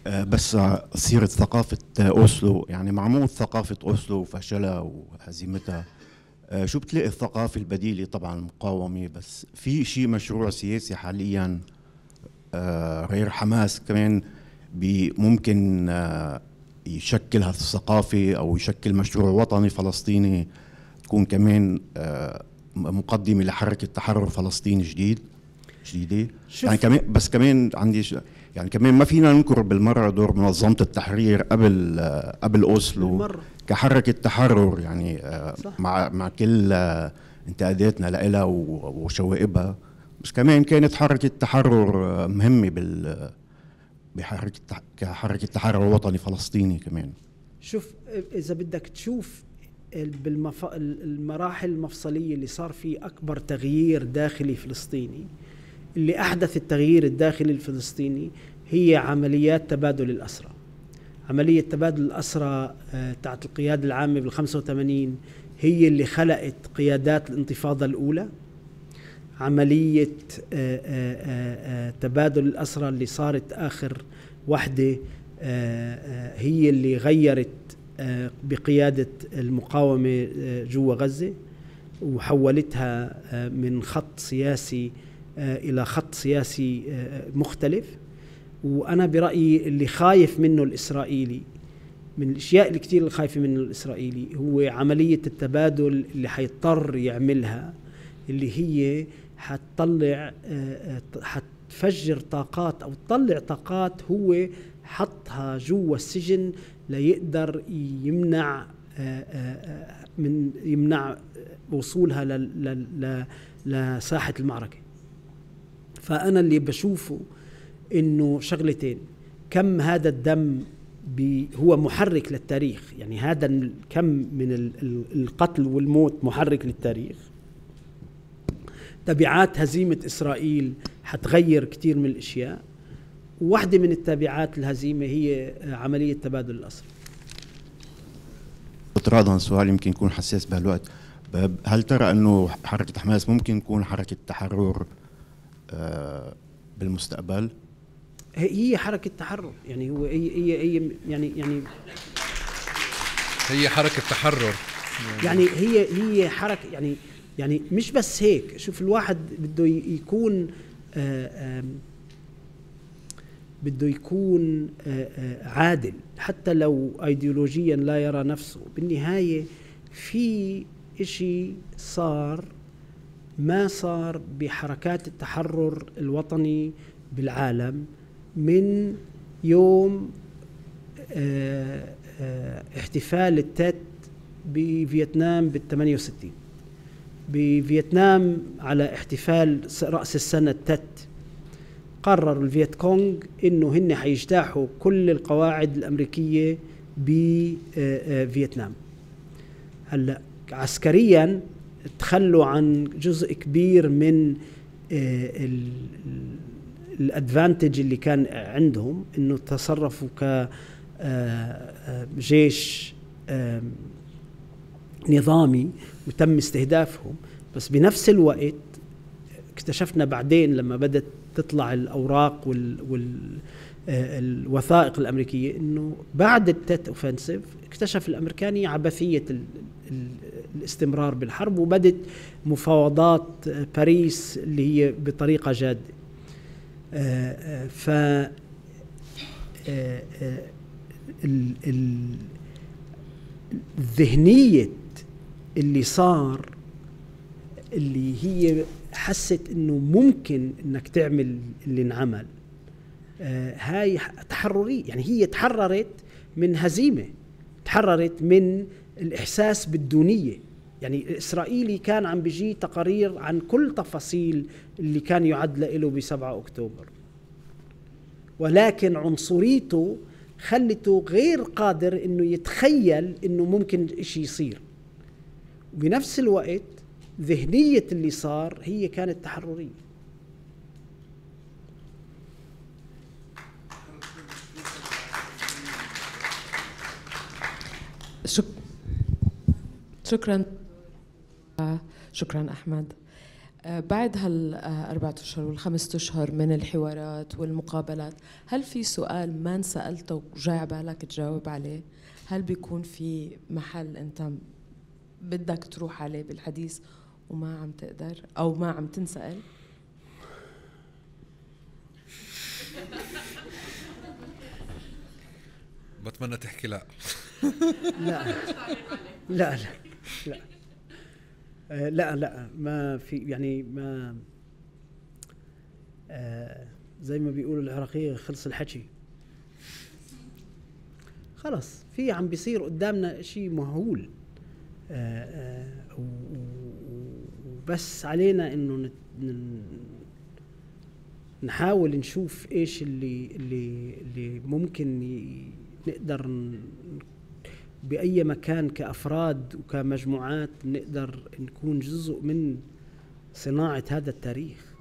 بس سيرة ثقافة أوسلو، يعني معمول ثقافة أوسلو وفشلها وهزيمتها، شو بتلاقي الثقافة البديلة؟ طبعا المقاومة، بس في شيء مشروع سياسي حاليا غير حماس كمان ممكن يشكل هذه الثقافة أو يشكل مشروع وطني فلسطيني تكون كمان مقدمة لحركة تحرر فلسطيني جديد جديدة. يعني كمان بس كمان عندي ش... يعني كمان ما فينا ننكر بالمرة دور منظمة التحرير قبل قبل أوسلو كحركة تحرر، يعني صح. مع مع كل انتقاداتنا لها وشوائبها، بس كمان كانت حركة تحرر مهمة بال بحركة كحركة تحرر وطني فلسطيني كمان. شوف إذا بدك تشوف بالمف... المراحل المفصلية اللي صار فيه أكبر تغيير داخلي فلسطيني، اللي أحدث التغيير الداخلي الفلسطيني هي عمليات تبادل الأسرى. عملية تبادل الأسرى تاعت القيادة العامة بالخمسة وثمانين هي اللي خلقت قيادات الانتفاضة الأولى. عملية تبادل الأسرى اللي صارت آخر وحدة هي اللي غيرت بقيادة المقاومة جوا غزة وحولتها من خط سياسي إلى خط سياسي مختلف. وأنا برأيي اللي خايف منه الإسرائيلي، من الأشياء اللي كتير اللي خايف منه الإسرائيلي، هو عملية التبادل اللي حيضطر يعملها، اللي هي حتطلع حتفجر طاقات أو تطلع طاقات هو حطها جوا السجن ليقدر يمنع من يمنع وصولها لساحة المعركة. فأنا اللي بشوفه إنه شغلتين: كم هذا الدم هو محرك للتاريخ، يعني هذا الكم من القتل والموت محرك للتاريخ. تبعات هزيمة إسرائيل حتغير كتير من الأشياء، وواحدة من التبعات الهزيمة هي عملية تبادل الأسرى. اعتراضا سؤال يمكن يكون حساس بهالوقت، هل ترى أنه حركة حماس ممكن تكون حركة تحرر بالمستقبل؟ هي حركة تحرر، يعني هو هي هي, هي يعني يعني هي حركة تحرر، يعني هي هي حركة يعني يعني مش بس هيك. شوف، الواحد بده يكون آآ آآ بده يكون آآ عادل، حتى لو ايديولوجيا لا يرى نفسه. بالنهاية في إشي صار ما صار بحركات التحرر الوطني بالعالم من يوم آآ آآ احتفال التات بفيتنام بالثمانية وستين. بفيتنام على احتفال رأس السنة التات قرر الفيت كونغ إنه هن حيجتاحوا كل القواعد الأمريكية بفيتنام. هلأ عسكريا تخلوا عن جزء كبير من الادفانتج اللي كان عندهم، انه تصرفوا كجيش نظامي وتم استهدافهم. بس بنفس الوقت اكتشفنا بعدين لما بدأت تطلع الأوراق والوثائق الأمريكية إنه بعد التات أوفنسيف اكتشف الأمريكاني عبثية الاستمرار بالحرب، وبدت مفاوضات باريس اللي هي بطريقة جادة. ف الذهنية اللي صار اللي هي حست انه ممكن انك تعمل اللي انعمل، هاي تحررية. يعني هي تحررت من هزيمة، تحررت من الإحساس بالدونية. يعني الإسرائيلي كان عم بيجي تقارير عن كل تفاصيل اللي كان يعد له بسبعة أكتوبر، ولكن عنصريته خلته غير قادر إنه يتخيل إنه ممكن إشي يصير. وبنفس الوقت ذهنية اللي صار هي كانت تحررية. شك... شكرا شكرا أحمد. بعد هالأربعة أشهر والخمسة أشهر من الحوارات والمقابلات، هل في سؤال ما انسألته وجاي على بالك تجاوب عليه؟ هل بيكون في محل أنت بدك تروح عليه بالحديث وما عم تقدر أو ما عم تنسأل؟ بتمنى تحكي لا. لا لا لا لا آه لا لا ما في، يعني ما آه زي ما بيقولوا العراقية خلص الحكي خلص. في عم بيصير قدامنا شيء مهول. وبس علينا إنه نحاول نشوف إيش اللي اللي اللي ممكن نقدر بأي مكان كأفراد وكمجموعات نقدر نكون جزء من صناعة هذا التاريخ.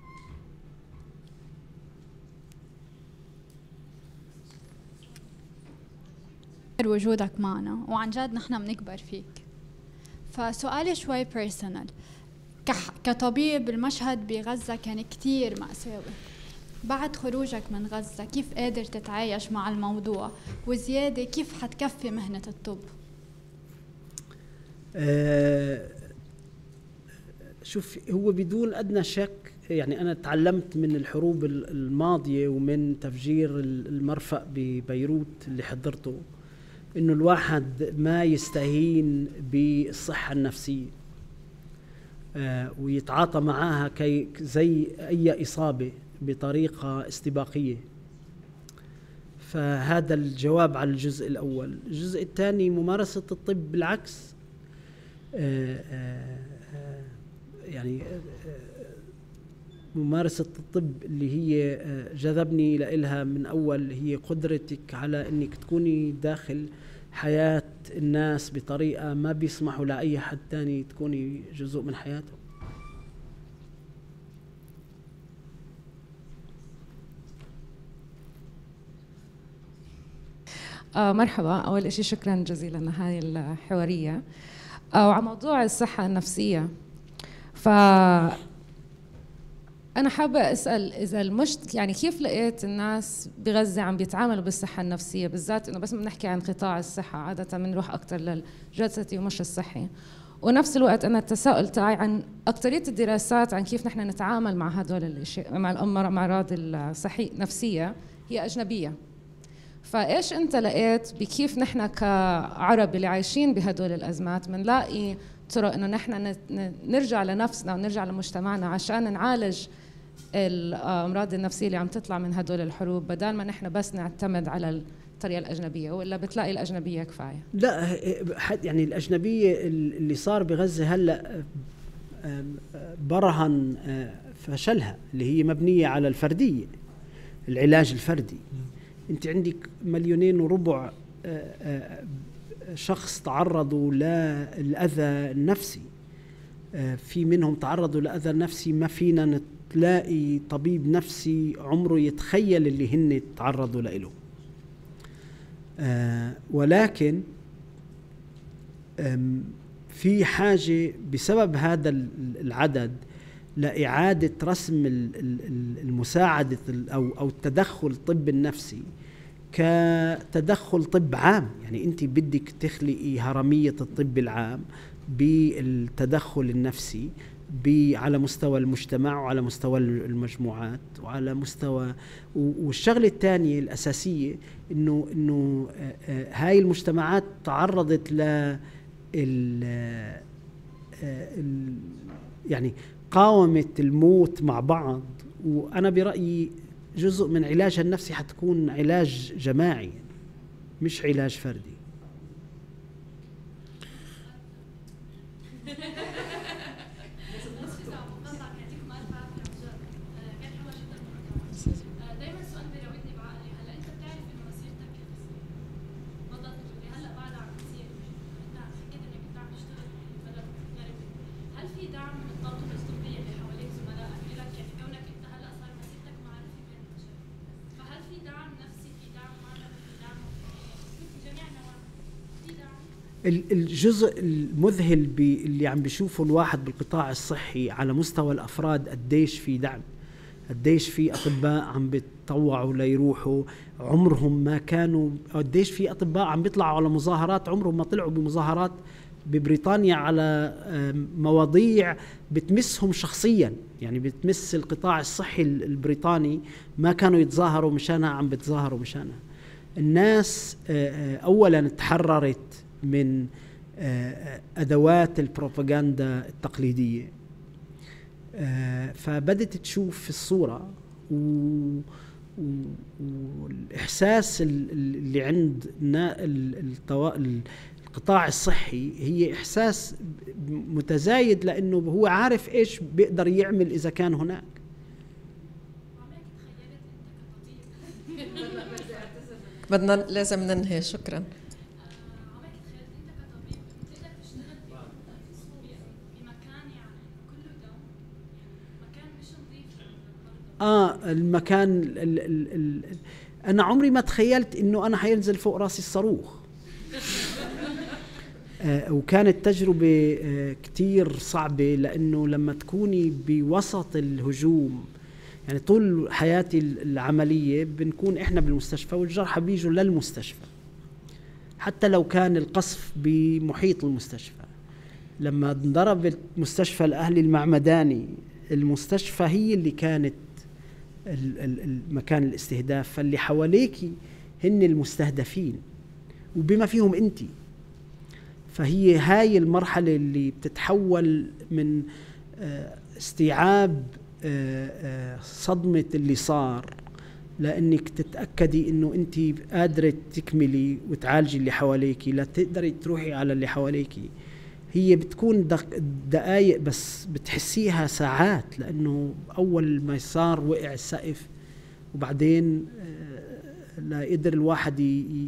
وجودك معنا وعن جد نحن بنكبر فيك. فسؤالي شوي بيرسونال، كطبيب المشهد بغزة كان كتير مأساوي، بعد خروجك من غزة كيف قادر تتعايش مع الموضوع، وزيادة كيف حتكفي مهنة الطب؟ آه شوف، هو بدون أدنى شك يعني أنا تعلمت من الحروب الماضية ومن تفجير المرفأ ببيروت اللي حضرته إنه الواحد ما يستهين بالصحة النفسية آه ويتعاطى معاها كي زي أي إصابة بطريقة استباقية. فهذا الجواب على الجزء الأول. الجزء الثاني، ممارسة الطب بالعكس آه آه يعني ممارسة الطب اللي هي جذبني لإلها من أول هي قدرتك على أنك تكوني داخل حياة الناس بطريقة ما بيسمحوا لأي حد تاني تكوني جزء من حياته. آه مرحبا، أول إشي شكرا جزيلا لهذه الحوارية. آه وعلى موضوع الصحة النفسية، ف أنا حابة أسأل إذا المشت يعني كيف لقيت الناس بغزة عم بيتعاملوا بالصحة النفسية، بالذات إنه بس بنحكي عن قطاع الصحة عادة بنروح أكتر للجلسة ومش الصحي. ونفس الوقت أنا التساؤل تاعي عن أكترية الدراسات عن كيف نحن نتعامل مع هدول الأشياء، مع الأمراض الصحية النفسية هي أجنبية. فإيش أنت لقيت بكيف نحن كعرب اللي عايشين بهدول الأزمات منلاقي طرق إنه نحن نرجع لنفسنا ونرجع لمجتمعنا عشان نعالج الأمراض النفسية اللي عم تطلع من هدول الحروب، بدل ما نحن بس نعتمد على الطريقة الأجنبية، ولا بتلاقي الأجنبية كفاية؟ لا، يعني الأجنبية اللي صار بغزة هلأ برهن فشلها اللي هي مبنية على الفردية، العلاج الفردي. أنت عندك مليونين وربع شخص تعرضوا للأذى النفسي، في منهم تعرضوا لأذى نفسي ما فينا نلاقي طبيب نفسي عمره يتخيل اللي هن تعرضوا له. ولكن في حاجة بسبب هذا العدد لإعادة رسم المساعدة أو أو التدخل الطب النفسي كتدخل طب عام. يعني أنت بدك تخلقي هرمية الطب العام بالتدخل النفسي على مستوى المجتمع وعلى مستوى المجموعات وعلى مستوى. والشغلة الثانية الأساسية إنه إنه هاي المجتمعات تعرضت ل يعني قاومت الموت مع بعض. وأنا برأيي جزء من علاجها النفسي حتكون علاج جماعي مش علاج فردي. الجزء المذهل اللي عم بيشوفه الواحد بالقطاع الصحي على مستوى الأفراد قديش في دعم، قديش في أطباء عم بيتطوعوا ليروحوا عمرهم ما كانوا، قديش في أطباء عم بيطلعوا على مظاهرات عمرهم ما طلعوا بمظاهرات ببريطانيا على مواضيع بتمسهم شخصيا، يعني بتمس القطاع الصحي البريطاني ما كانوا يتظاهروا مشانها، عم بتظاهروا مشانها. الناس أولا تحررت من أدوات البروباغندا التقليدية، فبدت تشوف الصورة والإحساس اللي عند القطاع الصحي هي إحساس متزايد، لأنه هو عارف إيش بيقدر يعمل إذا كان هناك. بدنا لازم ننهي. شكرا. اه المكان ال ال ال ال انا عمري ما تخيلت انه انا حينزل فوق راسي الصاروخ. آه وكانت تجربة آه كتير صعبة، لانه لما تكوني بوسط الهجوم، يعني طول حياتي العملية بنكون احنا بالمستشفى والجرحى بيجوا للمستشفى، حتى لو كان القصف بمحيط المستشفى. لما انضربت مستشفى الأهلي المعمداني، المستشفى هي اللي كانت المكان الاستهداف، فاللي حواليكي هن المستهدفين وبما فيهم انتي. فهي هاي المرحلة اللي بتتحول من استيعاب صدمة اللي صار، لأنك تتأكدي إنه أنتي قادرة تكملي وتعالجي اللي حواليكي، لا تقدري تروحي على اللي حواليكي. هي بتكون دقائق بس بتحسيها ساعات، لأنه أول ما صار وقع السقف، وبعدين لا قدر الواحد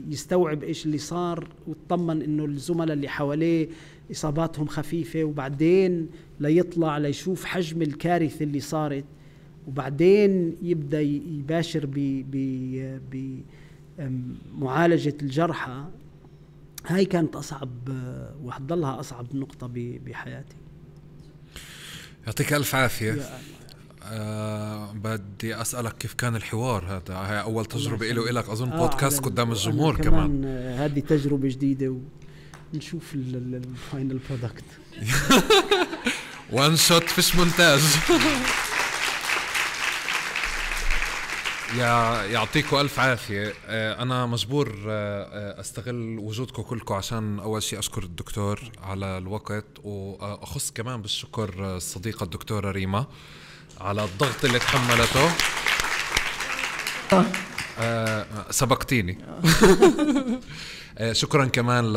يستوعب إيش اللي صار ويطمن إنه الزملاء اللي حواليه إصاباتهم خفيفة، وبعدين لا يطلع ليشوف حجم الكارثة اللي صارت، وبعدين يبدأ يباشر بمعالجة الجرحى. هاي كانت أصعب وحتضلها أصعب نقطة بحياتي. يعطيك ألف عافية. أه بدي أسألك كيف كان الحوار هذا؟ هاي أول تجربة إلي وإلك أظن آه بودكاست قدام الجمهور كمان, كمان. هذه تجربة جديدة ونشوف الفاينل برودكت. وان شوت فيش مونتاج. يا يعطيكم ألف عافية. أنا مجبور أستغل وجودكم كلكم عشان أول شيء أشكر الدكتور على الوقت، وأخص كمان بالشكر الصديقة الدكتورة ريما على الضغط اللي تحملته. سبقتيني. شكرا كمان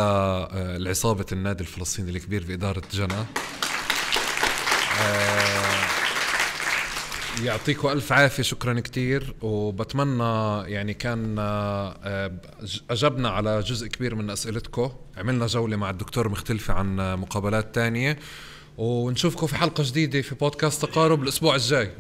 لعصابة النادي الفلسطيني الكبير بإدارة جنى. يعطيكم ألف عافية. شكرا كتير، وبتمنى يعني كان أجبنا على جزء كبير من أسئلتكم. عملنا جولة مع الدكتور مختلفة عن مقابلات تانية، ونشوفكم في حلقة جديدة في بودكاست تقارب الأسبوع الجاي.